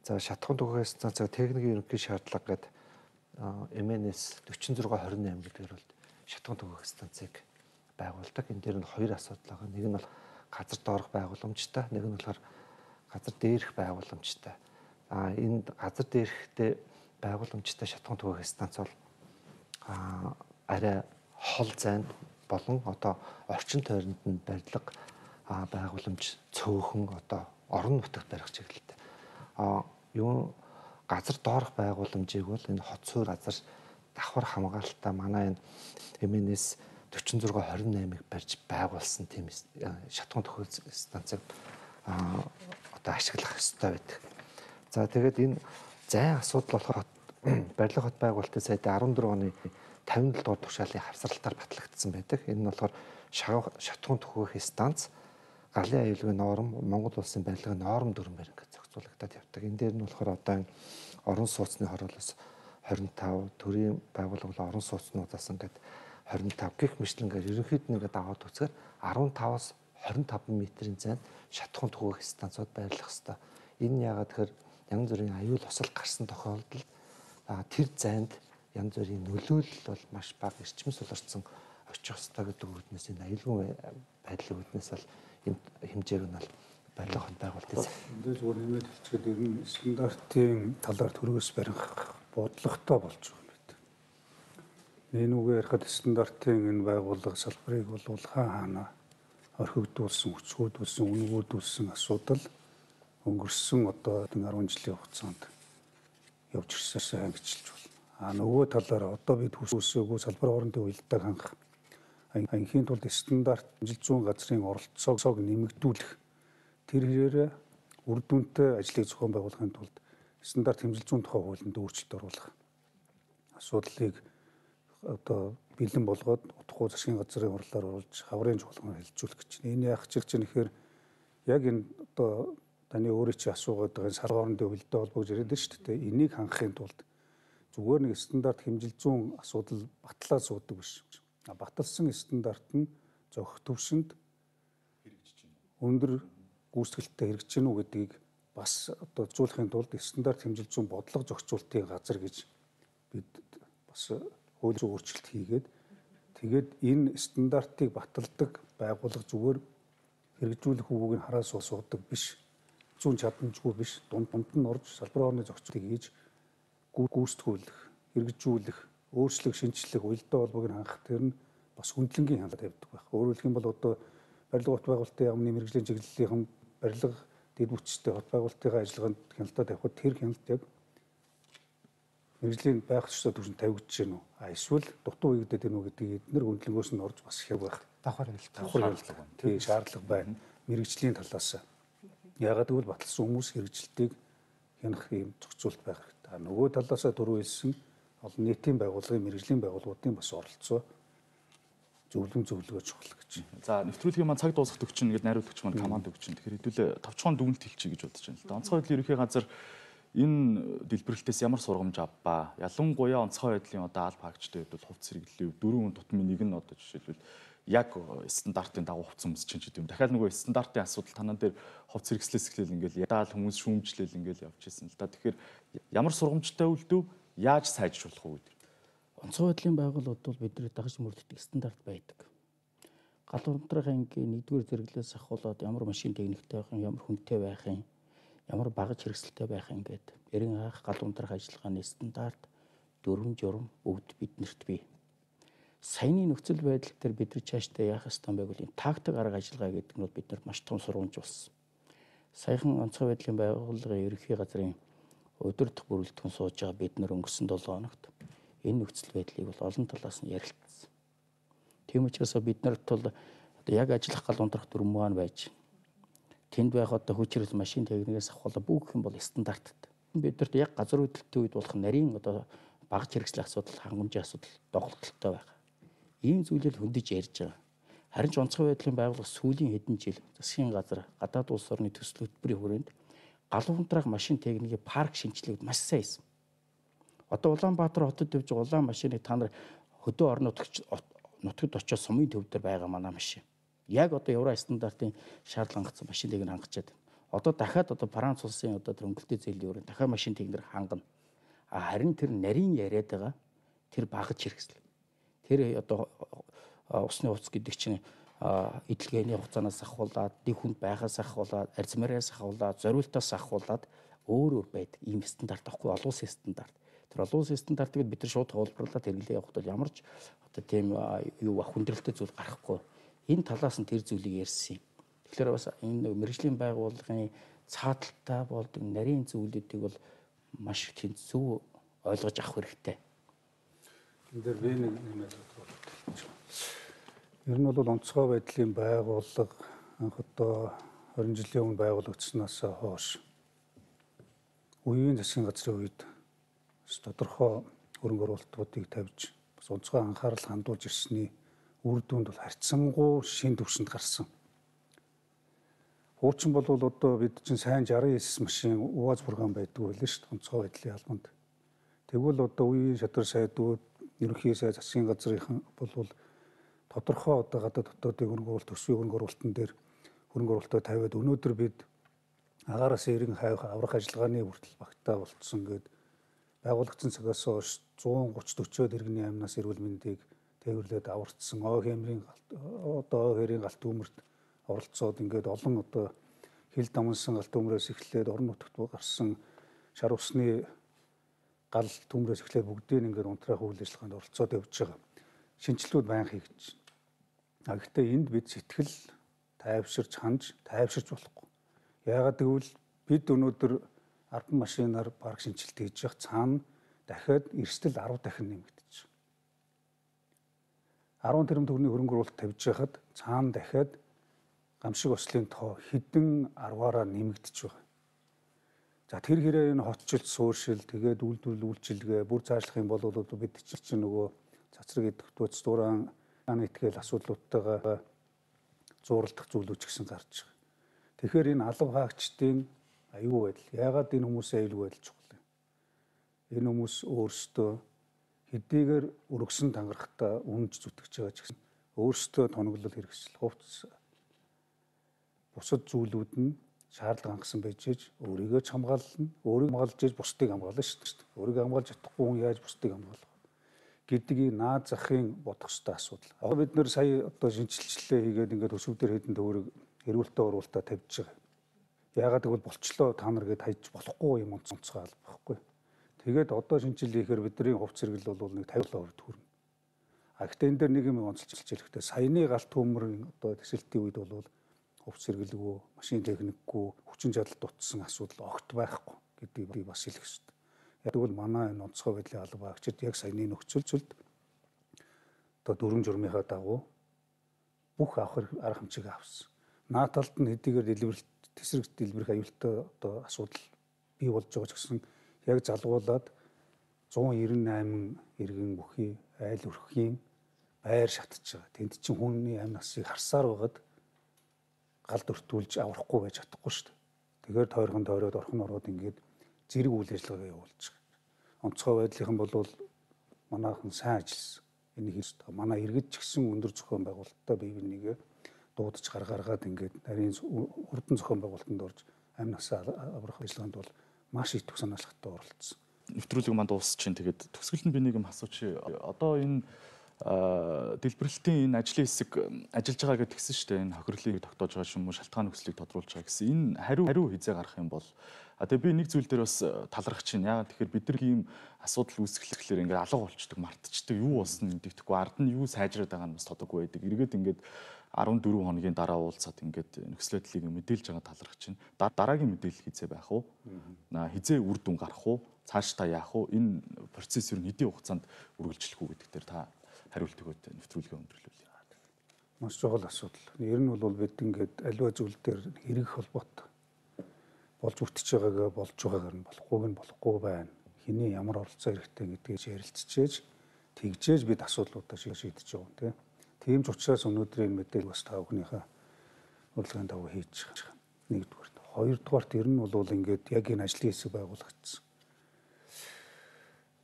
Speaker 5: За шатхуун түгээх станцаа техникийн ерөнхий шаардлага гэдэг эм эн эс дөрвөн зураг двадцать восемь гэдгээр бол шатхуун түгээх станцыг байгуулдаг. Энэ дээр нь хоёр асуудал байгаа. Нэг нь бол газар доорх байгууламжтай, нэг нь болохоор газар дээрх байгууламжтай. А энэ газар дээрхтэй байгууламжтай шатхуун түгээх станц бол а арай хол зайд болон одоо орчин тойронд нь барилга байгууламж цөөхөн одоо орон нутагт барих чиглэлтэй. А юу газар доорх байгууламжийг бол энэ хот суурь газар давхар хамгаалалтаа манай энэ эм эн эс дөрвөн зураг двадцать восемь-ыг барьж байгуулсан тийм шатхуун түгээх станцыг одоо ашиглах ёстой байдаг. За тэгээд энэ зайн асуудал болохоор барилга хот байгуулалтын сайдын арван дөрөв оны тавин дугаар тушаалын хавсралтаар батлагдсан байдаг. Энэ нь болохоор шатхуун түгээх станц галын аюулгүй норм Монгол улсын барилгын норм дүрмээр ингээд зохицуулагдаад явдаг. Энэ дээр нь болохоор одоо орон сууцны хороолоос двадцать пять, төрийн байгууллага орон сууцнуудаас ингээд двадцать пять гэх мэтлэнгээр ерөнхийд нь ингээд аваад үзэхээр десять-аас двадцать пять метрийн зайд шатхуун түгээх станцууд байрлах ёстой. Энэ яагаад тэгэхээр янз бүрийн аюул осол гарсан тохиолдолд тэр зайд янз бүрийн нөлөөлөл бол маш бага эрчим суларсан очих ёстой гэдэг үүднээс энэ аюулгүй байдлын үүднээс бол энэ хэмжээг нь бол барилга хот байгуулалтын
Speaker 4: энэ зүгээр нэмээд хэлчихээд ер нь стандартын талаар төрөөс барих бодлоготой болж байгаа юм байна. Энэ үгээр ярихад стандартын энэ байгууллага салбарыг бол хаана орхигдуулсан, хүчрхүүдүүлсэн, үнгүүдүүлсэн асуудал өнгөрсөн одоо арван жилийн хугацаанд явж ирсэн ангичлж байна. А нөгөө талаараа одоо бид хүсээгүй салбар хоорондын уялдааг хангах анхийн тулд стандарт амжилт зүүн газрын оролцоог нэмэгдүүлэх тэр хэрээр үр дүнтэй ажлыг зохион байгуулахын тулд стандарт хэмжил зүүн тухай хуулинд өөрчлөлт оруулах асуудлыг одоо бэлэн болгоод утгагүй засгийн газрын хурлаар оруулж хаврын чухалгаар хэлжүүлэх гэж байна. Энэ яах гэж чинь ихээр яг энэ одоо таны өөрөө чи асуугаад байгаа салбар хоорондын уялдаа холбоог яриад байна шүү дээ. Энийг хангахын тулд зүгээр нэг стандарт хэмжил зүүн асуудал батлаад суудаг биш. Баталсан стандарт нь зохих төвшөнд хэрэгжиж байна. Өндөр гүйцэтгэлтэй хэрэгжиж гэнэ үү гэдгийг бас одоо зохицуулахын тулд стандарт хэмжил зүүн бодлого зохицуулалтын газар гэж бид бас хууль зүйн өөрчлөлт хийгээд тэгээд энэ стандартыг баталдаг байгууллага зүгээр хэрэгжүүлэх үгүйг нь хараа суудаг биш. Зүүн чадамжгүй биш. Дунд дунд нь орж салбар орны зохицуултыг хийж гүйцэтгүүлэх, хэрэгжүүлэх, өөрчлөх, шинжлэх, уялдаа холбоог нь хангах тэр нь бас хүндлэнгийн хандлага тавьдаг байх. Өөрөөр хэлэх юм бол одоо барилга хот байгуулалтын яамны мэрэгжлийн чиглэлийн барилга дэд бүтцтэй хот байгуулалтын ажиллагаанд хяналтаа тавихад тэр хяналт яг мэрэгжлийн байх ёстой төвшөнд тавигдж гэнэ үү? А эсвэл дутуу хийгдээд гэнэ үү гэдгийг эдгээр хүндлэнгөөс нь орж бас хэрэг байх.
Speaker 2: Давхар хяналт.
Speaker 4: Давхар хяналт. Тийм шаардлага байна. Мэрэгжлийн талаас. Ягаад гэвэл баталсан хүмүүс хэрэгжилтийг хянах юм зохицуулт байх хэрэгтэй. Нөгөө талаас дөрөв хэлсэн олон нийтийн байгууллагын мэрэгжлийн байгууллагуудын бас оролцоо зөвлөм зөвлөгөө чухал гэж.
Speaker 1: За нэвтрүүлгийн маань цаг дуусах төгчин ингээд найруулагч маань команд өгч чинь. Тэгэхээр хэдүүлээ товчхон дүгнэлт хэлчихье гэж бодож байна л да. Онцгой байдлын ерөнхий газар энэ дэлбэрэлтээс ямар сургамж авбаа? Ялангуяа онцгой байдлын одоо алба хаагчтай хувьд бол хувьц хэрэглээ дөрвөн тутмын нэг нь одоо жишээлбэл яг стандартын дагуу хувьц өмсч чинь гэдэг юм. Дахиад нөгөө стандартын асуудал танаа дээр хувьц хэрэгслээс эхлээл ингээл ядаал хүмүүс шүүмжлэл ингээл явж ирсэн л да. Тэгэхээр ямар сургамжтай үлдв? Яаж сайжруулах вэ гэдэг?
Speaker 6: Онцгой байдлын байгууллагууд бол бидний дагаж мөрддөг стандарт байдаг. Галуун унтрахын ангийн нэгдүгээр зэрэглээс ахуулаад ямар машин техниктэй байх юм, ямар хүнтэй байх юм, ямар багаж хэрэгсэлтэй байх юм гээд эрен анх галуун унтрах ажиллагааны стандарт дүрм журм бүгд биднэрт бий. Саяны нөхцөл байдал дээр бид нар цаашдаа яах ёстой байг бол энэ тактик арга ажиллагаа гэдэг нь бид нарт маш том сургамж болсон. Саяхан онцгой байдлын байгууллагын ерөнхий газрын өдөртөх бүрэлдэхүүн сууж байгаа бид нар өнгөрсөн долоо хоногт энэ нөхцөл байдлыг бол олон талаас нь ярилцсан. Тийм учраас бид нарт бол одоо яг ажиллах гал унтрах дүрм маань байж тэнд байх одоо хүчирхэл машин техникээс ахвал бүх юм бол стандарттай. Бидэрт яг газар хөдлөлтийн үед болох нарийн одоо багц хэрэгслийн асуудал, хангамжийн асуудал доголдолтой байгаа. Ийм зүйлийг хөндөж ярьж байгаа. Харин ч онцгой байдлын байгууллага сүүлийн хэдэн жил засгийн газар, гадаад улс орны төсөл хөтөлбөрийн хүрээнд галуу унтраах машин техникийн парк шинжилгээг маш сайн хийсэн. Одоо Улаанбаатар хотод явж байгаа улаан машиныг та нар хөдөө орон нутагт очиж сумын төв дээр байгаа манай машин. Яг одоо евро стандартын шаардлага хангацсан машин техник хангачаад. Одоо дахиад одоо Франц улсын одоо тэр өнгөлтэй зээлийн өрөө дахиад машин техникээр хангана. А харин тэр нарийн яриад байгаа тэр багц хэрэгсэл. Тэр одоо усны хувцас гэдэг чинь эдлгээний хугацаанаас ахуулаад, дэг хүнд байхаас ахуулаад, арзмараас ахуулаад, зориултаас ахуулаад өөр өөр байдаг. Ийм стандарт авахгүй олон улсын стандарт. Тэр олон улсын стандартыг бид нар шууд хуулбарлаад хэрэглээ явахад бол ямар ч одоо тийм юу хүндрэлтэй зүйл гарахгүй. Энэ талаас нь тэр зүйлийг ярьсан юм. Тэгэхээр бас энэ мэргэжлийн байгууллагын цааталтай болдог нарийн зүйлүүдийг бол маш их зөв ойлгож авах хэрэгтэй.
Speaker 4: Энэ дээр би нэг нэмээд бодлоо. Ер нь бол онцгой байдлын байгууллага анх одоо хорин жилийн өмнө байгуулагдсанаас хойш үеийн засгийн газрын үед тодорхой хөрөнгө оруулалтуудыг тавьж бас онцгой анхаарал хандуулж ирсний үр дүнд бол харьцангуй шин төвшөнд гарсан. Хуучин бол одоо бид чинь сайн шарсан эс машин УАЗ програм байдаг байлээ шүү дээ онцгой байдлын албанд. Тэгвэл одоо үеийн шадар сайдууд ерөнхий сайд засгийн газрынхан бол тодорхой одоо гадаад дотоодын хөрөнгө оруулалт төсвийн хөрөнгө оруулалтын дээр хөрөнгө оруулалтаа тавиад өнөөдөр бид агаараас эрен хайх аврах ажиллагааны хүртэл багтаа болцсон гээд байгуулагдсан цагаас хойш зуун гуч дөрвөн иргэний амнаас эрүүл мэндийг тээвэрлээд аварцсан ой хэмрийн одоо ой хэрийн галт өмөрт оролцоод ингээд олон одоо хил дамнсан галт өмрөөс эхлээд орон нутагт гарсан шар усны гал төмрөөс эхлээд бүгдийг ингээд унтраах үйл ажиллагаанд оролцоод явж байгаа. Шинжилгүүд байнга хийгдэж байна. А гэхдээ энд бид сэтгэл тайвширч ханж тайвширч болохгүй. Яагаад гэвэл бид өнөөдөр арбан машинаар парк шинжилт хийж явах цаана дахиад эрсдэл арав дахин нэмэгдэж байна. арван тэрбум төгрөгийн хөрөнгө оруулалт тавьж байхад цаана дахиад гамшиг ослын тоо хэдэн арваараа нэмэгдэж байгаа. За тэр хэрэг энэ хотчлт суурьшил тэгээд үйлдвэрлэл үйлчилгээ бүр цаашлах юм бол бид чинь нөгөө цацраг идэвхтүүц дуран итгэл асуудлуудтайгаа зууралдах зүйлүүд ч гэсэн гарч байгаа. Тэгэхээр энэ алав хаагчдын аюул байдал яагаад энэ хүмүүсийн аюул байдал чухал юм? Энэ хүмүүс өөрсдөө хэдийгээр өргөсөн тангарахтаа үнж зүтгэж байгаа ч гэсэн өөрсдөө тоноглол хэрэгсэл хувцс бусад зүйлүүд нь шаардлага хангасан байж ээж өөрийгөө ч хамгаална, өөрийг хамгаалж ээж бусдыг хамгаална шүү дээ. Өөрийгөө хамгаалж чадахгүй хүн яаж бусдыг хамгаалах гэдгийг наад захын бодох ёстой асуудал. Одоо бид нэр сая одоо шинжилчлээ хийгээд ингээд өсвдөр хэдэн төгрөг эрүүлтэ оруулалтаа тавьж байгаа. Яагаад гэвэл болчлоо та нар гээд хайж болохгүй юм онцгой алба байхгүй. Тэгээд одоо шинжилгээ хийхээр бидний хувц зэрэгэл бол нэг тавилаа хувьд хүрнэ. А гэхдээ энэ дээр нэг юм онцлж хэлэхдээ саяны галт төмрийн одоо төсөлтийн үед бол хувц зэрэгэлгүй, машин техникгүй, хүчин чадалд утсан асуудал огт байхгүй гэдгийг би бас хэлэх ёстой. Яг тэгвэл манай энэ онцгой байдлын алба агчид яг саяны нөхцөлд одоо дөрвөн журмынхаа дагуу бүх авах арга хэмжээг авсан. Наад талд нь хэдийгээр дэлбэрэлт тесрэг дэлбэрэх аюултай одоо асуудал бий болж байгаа ч гэсэн яг залгуулад зуун девять восемь иргэн бүхий айл өрхийн байр шатж байгаа. Тэнд чинь хүний амь насыг харсаар байгаад галд өртүүлж аврахгүй байж чадахгүй шүү дээ. Тэгэхээр тойрхон тойроод орхон ороод ингээд зэрэг үйл ажиллагаа явуулж байгаа. Онцгой байдлынхан бол манайхан сайн ажилласан. Энийг хийж байгаа. Манай иргэд ч гэсэн өндөр зохион байгуулалттай бие бинийгээ дуудаж гаргааргаад ингээд нарийн хурдан зохион байгуулалтанд орж амь насаа аврах ажиллагаанд бол маш их санаалхтай оролцсон.
Speaker 1: Нэвтрүүлэг манд уус чинь тэгээд төгсгөл нь би нэг юм асуучих. Одоо энэ дэлбэрэлтийн энэ ажлын хэсэг ажиллаж байгаа гэж тэгсэн шүү дээ. Энэ хохирлыг тогтоож байгаа юм уу, шалтгаан нөхцөлийг тодруулж байгаа гэсэн. Энэ хариу хариу хизээ гарах юм бол а тэгээ би нэг зүйл дээр бас талархаж байна. Яагаад тэгэхээр бид нар ийм асуудал үүсгэхлээр ингээд алга болчдөг, мартчихдаг. Юу болсон мэддэхгүй, ард нь юу сайжраад байгаа нь бас тодоггүй байдаг. Эргээд ингээд арван дөрвөн хоногийн дараа уулзаад ингээд нөхцөл байдлыг мэдээлж байгаа талархаж байна. Дараагийн мэдээлэл хизээ байх уу? Хизээ үр дүн гарах уу? Цааш та яах уу? Энэ процесс ер нь хэдийн хугацаанд үргэлжлэх үү гэдэг дээр та хариулт өгөөд нэвтрүүлгээ өндөрлүүлье.
Speaker 4: маш чухал асуудал. Ер нь бол бид ингээд аливаа зүйл дээр хэрэг холбоотой болж үртэж байгаагаа болж байгаагаар нь болохгүйг нь болохгүй байна. Хэний ямар оролцоо хэрэгтэй гэдгийг ярилцчихээж тэгжээж бид асуудлуудаа шийдэж байгаа юм тийм. Тийм ч учраас өнөөдрийн мэдээлэл бас та бүхнийхээ урилгын дагуу хийж байгаа. Нэгдүгээр. Хоёрдугаарт ер нь бол ингээд яг энэ ажлын хэсэг байгуулагдсан.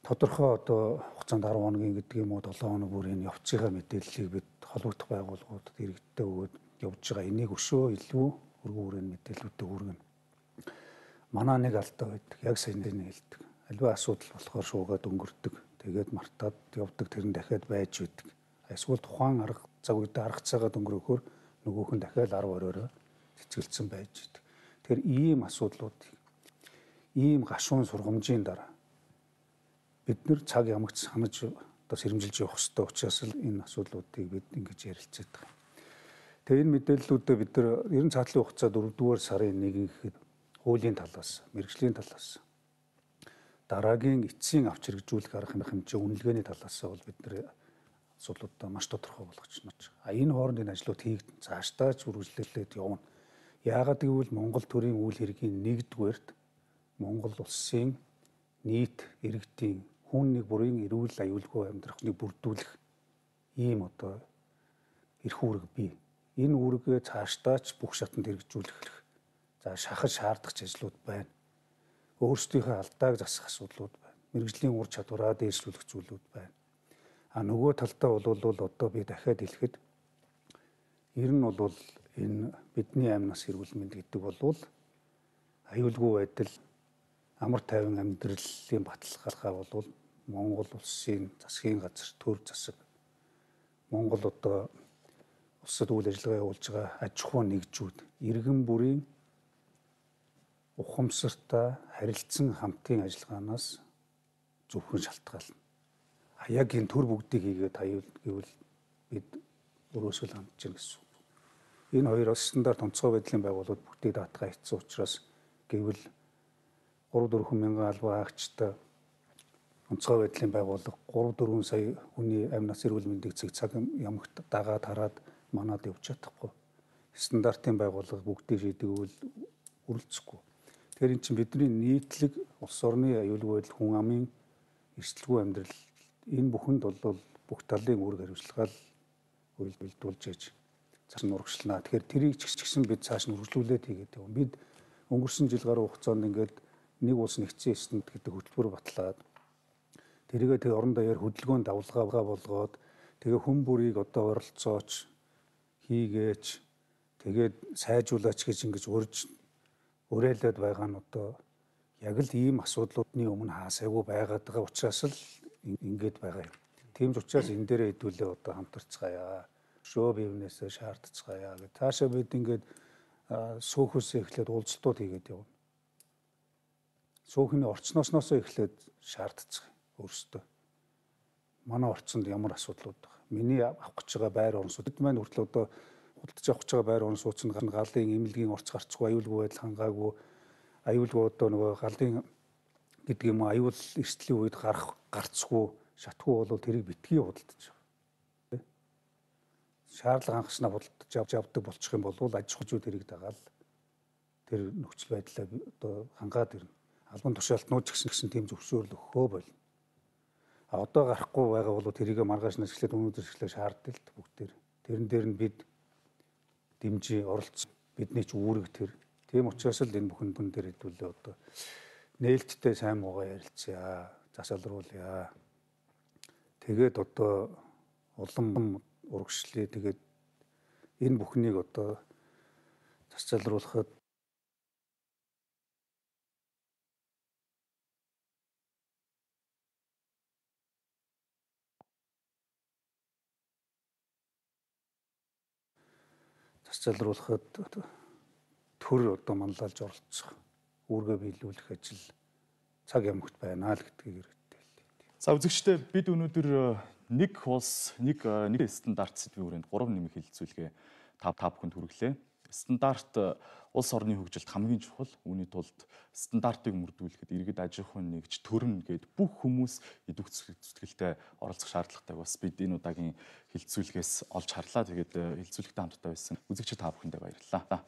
Speaker 4: Тодорхой одоо хугацаанд арав хоногийн гэдэг юм уу долоон хоног бүр энэ явцынхаа мэдээллийг бид холбогдох байгууллагуудад иргэдтэй өгөөд явж байгаа. Энийг өшөө илүү өргөн хүрээний мэдээллүүдтэй хүргэнэ. Манай нэг алдаа байдаг. Яг сайн нэг хэлдэг. Аливаа асуудал болохоор шуугаад өнгөрдөг. Тэгээд мартаад явдаг тэр нь дахиад байж үүдэг. Эсвэл тухайн арга цаг үедээ арга цагаад өнгөрөхөөр нөгөөх нь дахиад арав оройроо цэцгэлцэн байж үүдэг. Тэгэхээр ийм асуудлуудыг ийм гашуун сургамжийн дараа бид нэр цаг ямагт санаж одоо сэрэмжилж явах хэрэгтэй учраас л энэ асуудлуудыг бид ингэж ярилцээд байгаа. Тэгээ энэ мэдээллүүдээ бид нар ер нь цаатлын хугацаа дөрөвдүгээр сарын нэгэн гэхэд хуулийн талаас, мэргэжлийн талаас, дараагийн эцсийн авч хэрэгжүүлэх арга хэмжээ үнэлгээний талаас бол бид нар асуудлуудаа маш тодорхой болгож байна. А энэ хоорондын ажлууд хийгдэн цаашдаа ч үргэлжлүүлээд явна. Яагаад гэвэл Монгол төрийн үйл хэргийн нэгдүгээрт Монгол улсын нийт иргэдийн хүн нэг бүрийн эрүүл аюулгүй амьдрахыг бүрдүүлэх ийм одоо эрх үүрэг бий. Энэ үүргээ цаашдаа ч бүх шатанд хэрэгжүүлэх за шахаж шаардах ажлууд байна. Өөрсдийнхөө алдааг засах асуудлууд байна. Мэргэжлийн ур чадвараа дээшлүүлэх зүйлүүд байна. А нөгөө талдаа бол одоо би дахиад хэлэхэд ер нь бол энэ бидний амь нас эрүүл мэнд гэдэг бол аюулгүй байдал амар тайван амьдралын баталгаалгаа бол Монгол улсын засгийн газар төр засаг Монгол одоо улсад үйл ажиллагаа явуулж байгаа аж ахуй нэгжүүд иргэн бүрийн ухамсартай харилцан хамтын ажиллагаанаас зөвхөн шалтгаална. А яг энэ төр бүгдийг хийгээд аюул гэвэл бид өрөөсөө хандж байна гэсэн. Энэ хоёр стандарт онцгой байдлын байгууллагууд бүгдийг даатгаа хийсэн учраас гэвэл гурав дөрвөн мянган албан хаагчтай онцгой байдлын байгууллага гурав дөрвөн сая хүний амь нас эрүүл мэндийг цэг цаг ямагт дагаад хараад манад явж чадахгүй. Стандартын байгууллага бүгдийг шийдэгвэл үргэлжлэхгүй. Тэгэхээр эн чинь бидний нийтлэг улс орны аюулгүй байдал хүн амын эрсдэлгүй амьдрал энэ бүхэнд бол бүх талын үүрэг хариуцлага үйлдвэрлэж ээж цааш нь урагшлана. Тэгэхээр тэрийг ч гэсэн бид цааш нь үргэлжлүүлээд хийгээд явна. Бид өнгөрсөн жил гаруй хугацаанд ингээд нэг улс нэгдсэн эсэнд гэдэг хөтөлбөр батлаад тэрийгээ тэг орон даяар хөдөлгөөнд давлгаа болгоод тэгээ хүн бүрийг одоо оролцооч хийгээч тэгээд сайжруулаач гэж ингэж урьж уриалаад байгаа нь одоо яг л ийм асуудлуудны өмнө хаасайгүй байгаад байгаа учраас л ингэж байгаа юм. Тийм ч учраас энэ дээрээ хэдүүлээ одоо хамтарцгаая. Шөө бивнээсээ шаардцгаая гэх. Таашаа бид ингээд сөөхөөсөө эхлээд уулзалтууд хийгээд явна. Сөөхний орчноосноос эхлээд шаардцгаая өөрсдөө. Манай орчинд ямар асуудлууд байгаа. Миний авах гэж байгаа байр орон сууц маань хүртэл одоо худалдаж авах гэж байгаа байр орон сууц нь галын эмнэлгийн орц гарцгүй, аюулгүй байдал хангаагүй, аюулгүй одоо нөгөө галын гэдэг юм аюул эрсдлийн үед гарах гарцгүй, шатгүй бол тэрийг битгий худалдаж байгаа. Шаардлага хангаснаа худалдаж авч явдаг болчих юм бол аж ахуйчуд тэрийг дагаал тэр нөхцөл байдлаа одоо хангаад ирнэ. Албан тушаалтнууд ч гэсэн гэсэн тийм зөвшөөрөл өгөхөө болно. А одоо гарахгүй байгаа бол тэрийг маргааш нь ашиглаад өнөөдөр ашиглаж шаарддаг л бүгдээр. Тэрэн дээр нь бид дэмжиж оролцсон. Бидний ч үүрэг тэр. Тийм учраас л энэ бүхэн бүхэн дээр хэдүүлээ одоо нээлттэй сайн муугаа ярилцъя, засалруулъя. Тэгээд одоо улам урагшлъя. Тэгээд энэ бүхнийг одоо засалруулахад засалруулахад төр одоо манлайлж оролцох, үүргээ биелүүлэх ажил цаг ямагт байна л гэдгийг хэрэгтэй хэлээ.
Speaker 1: За үзэгчдээ бид өнөөдөр нэг улс, нэг нэг стандарт сэдвийн хүрээнд гурван нэмэх хэлэлцүүлгээ та та бүхэнд хүргэлээ. Стандарт улс орны хөгжилд хамгийн чухал. Үүний тулд стандартыг мөрдүүлэхэд иргэд аж ахуйн нэгж төрн гээд бүх хүмүүс идэвх зүтгэлтэй оролцох шаардлагатай бас бид энэ удаагийн хилцүүлгээс олж харлаа. Тэгээд хилцүүлэгтэй хамтдаа байсан үзэгчид та бүхэндээ баярлалаа.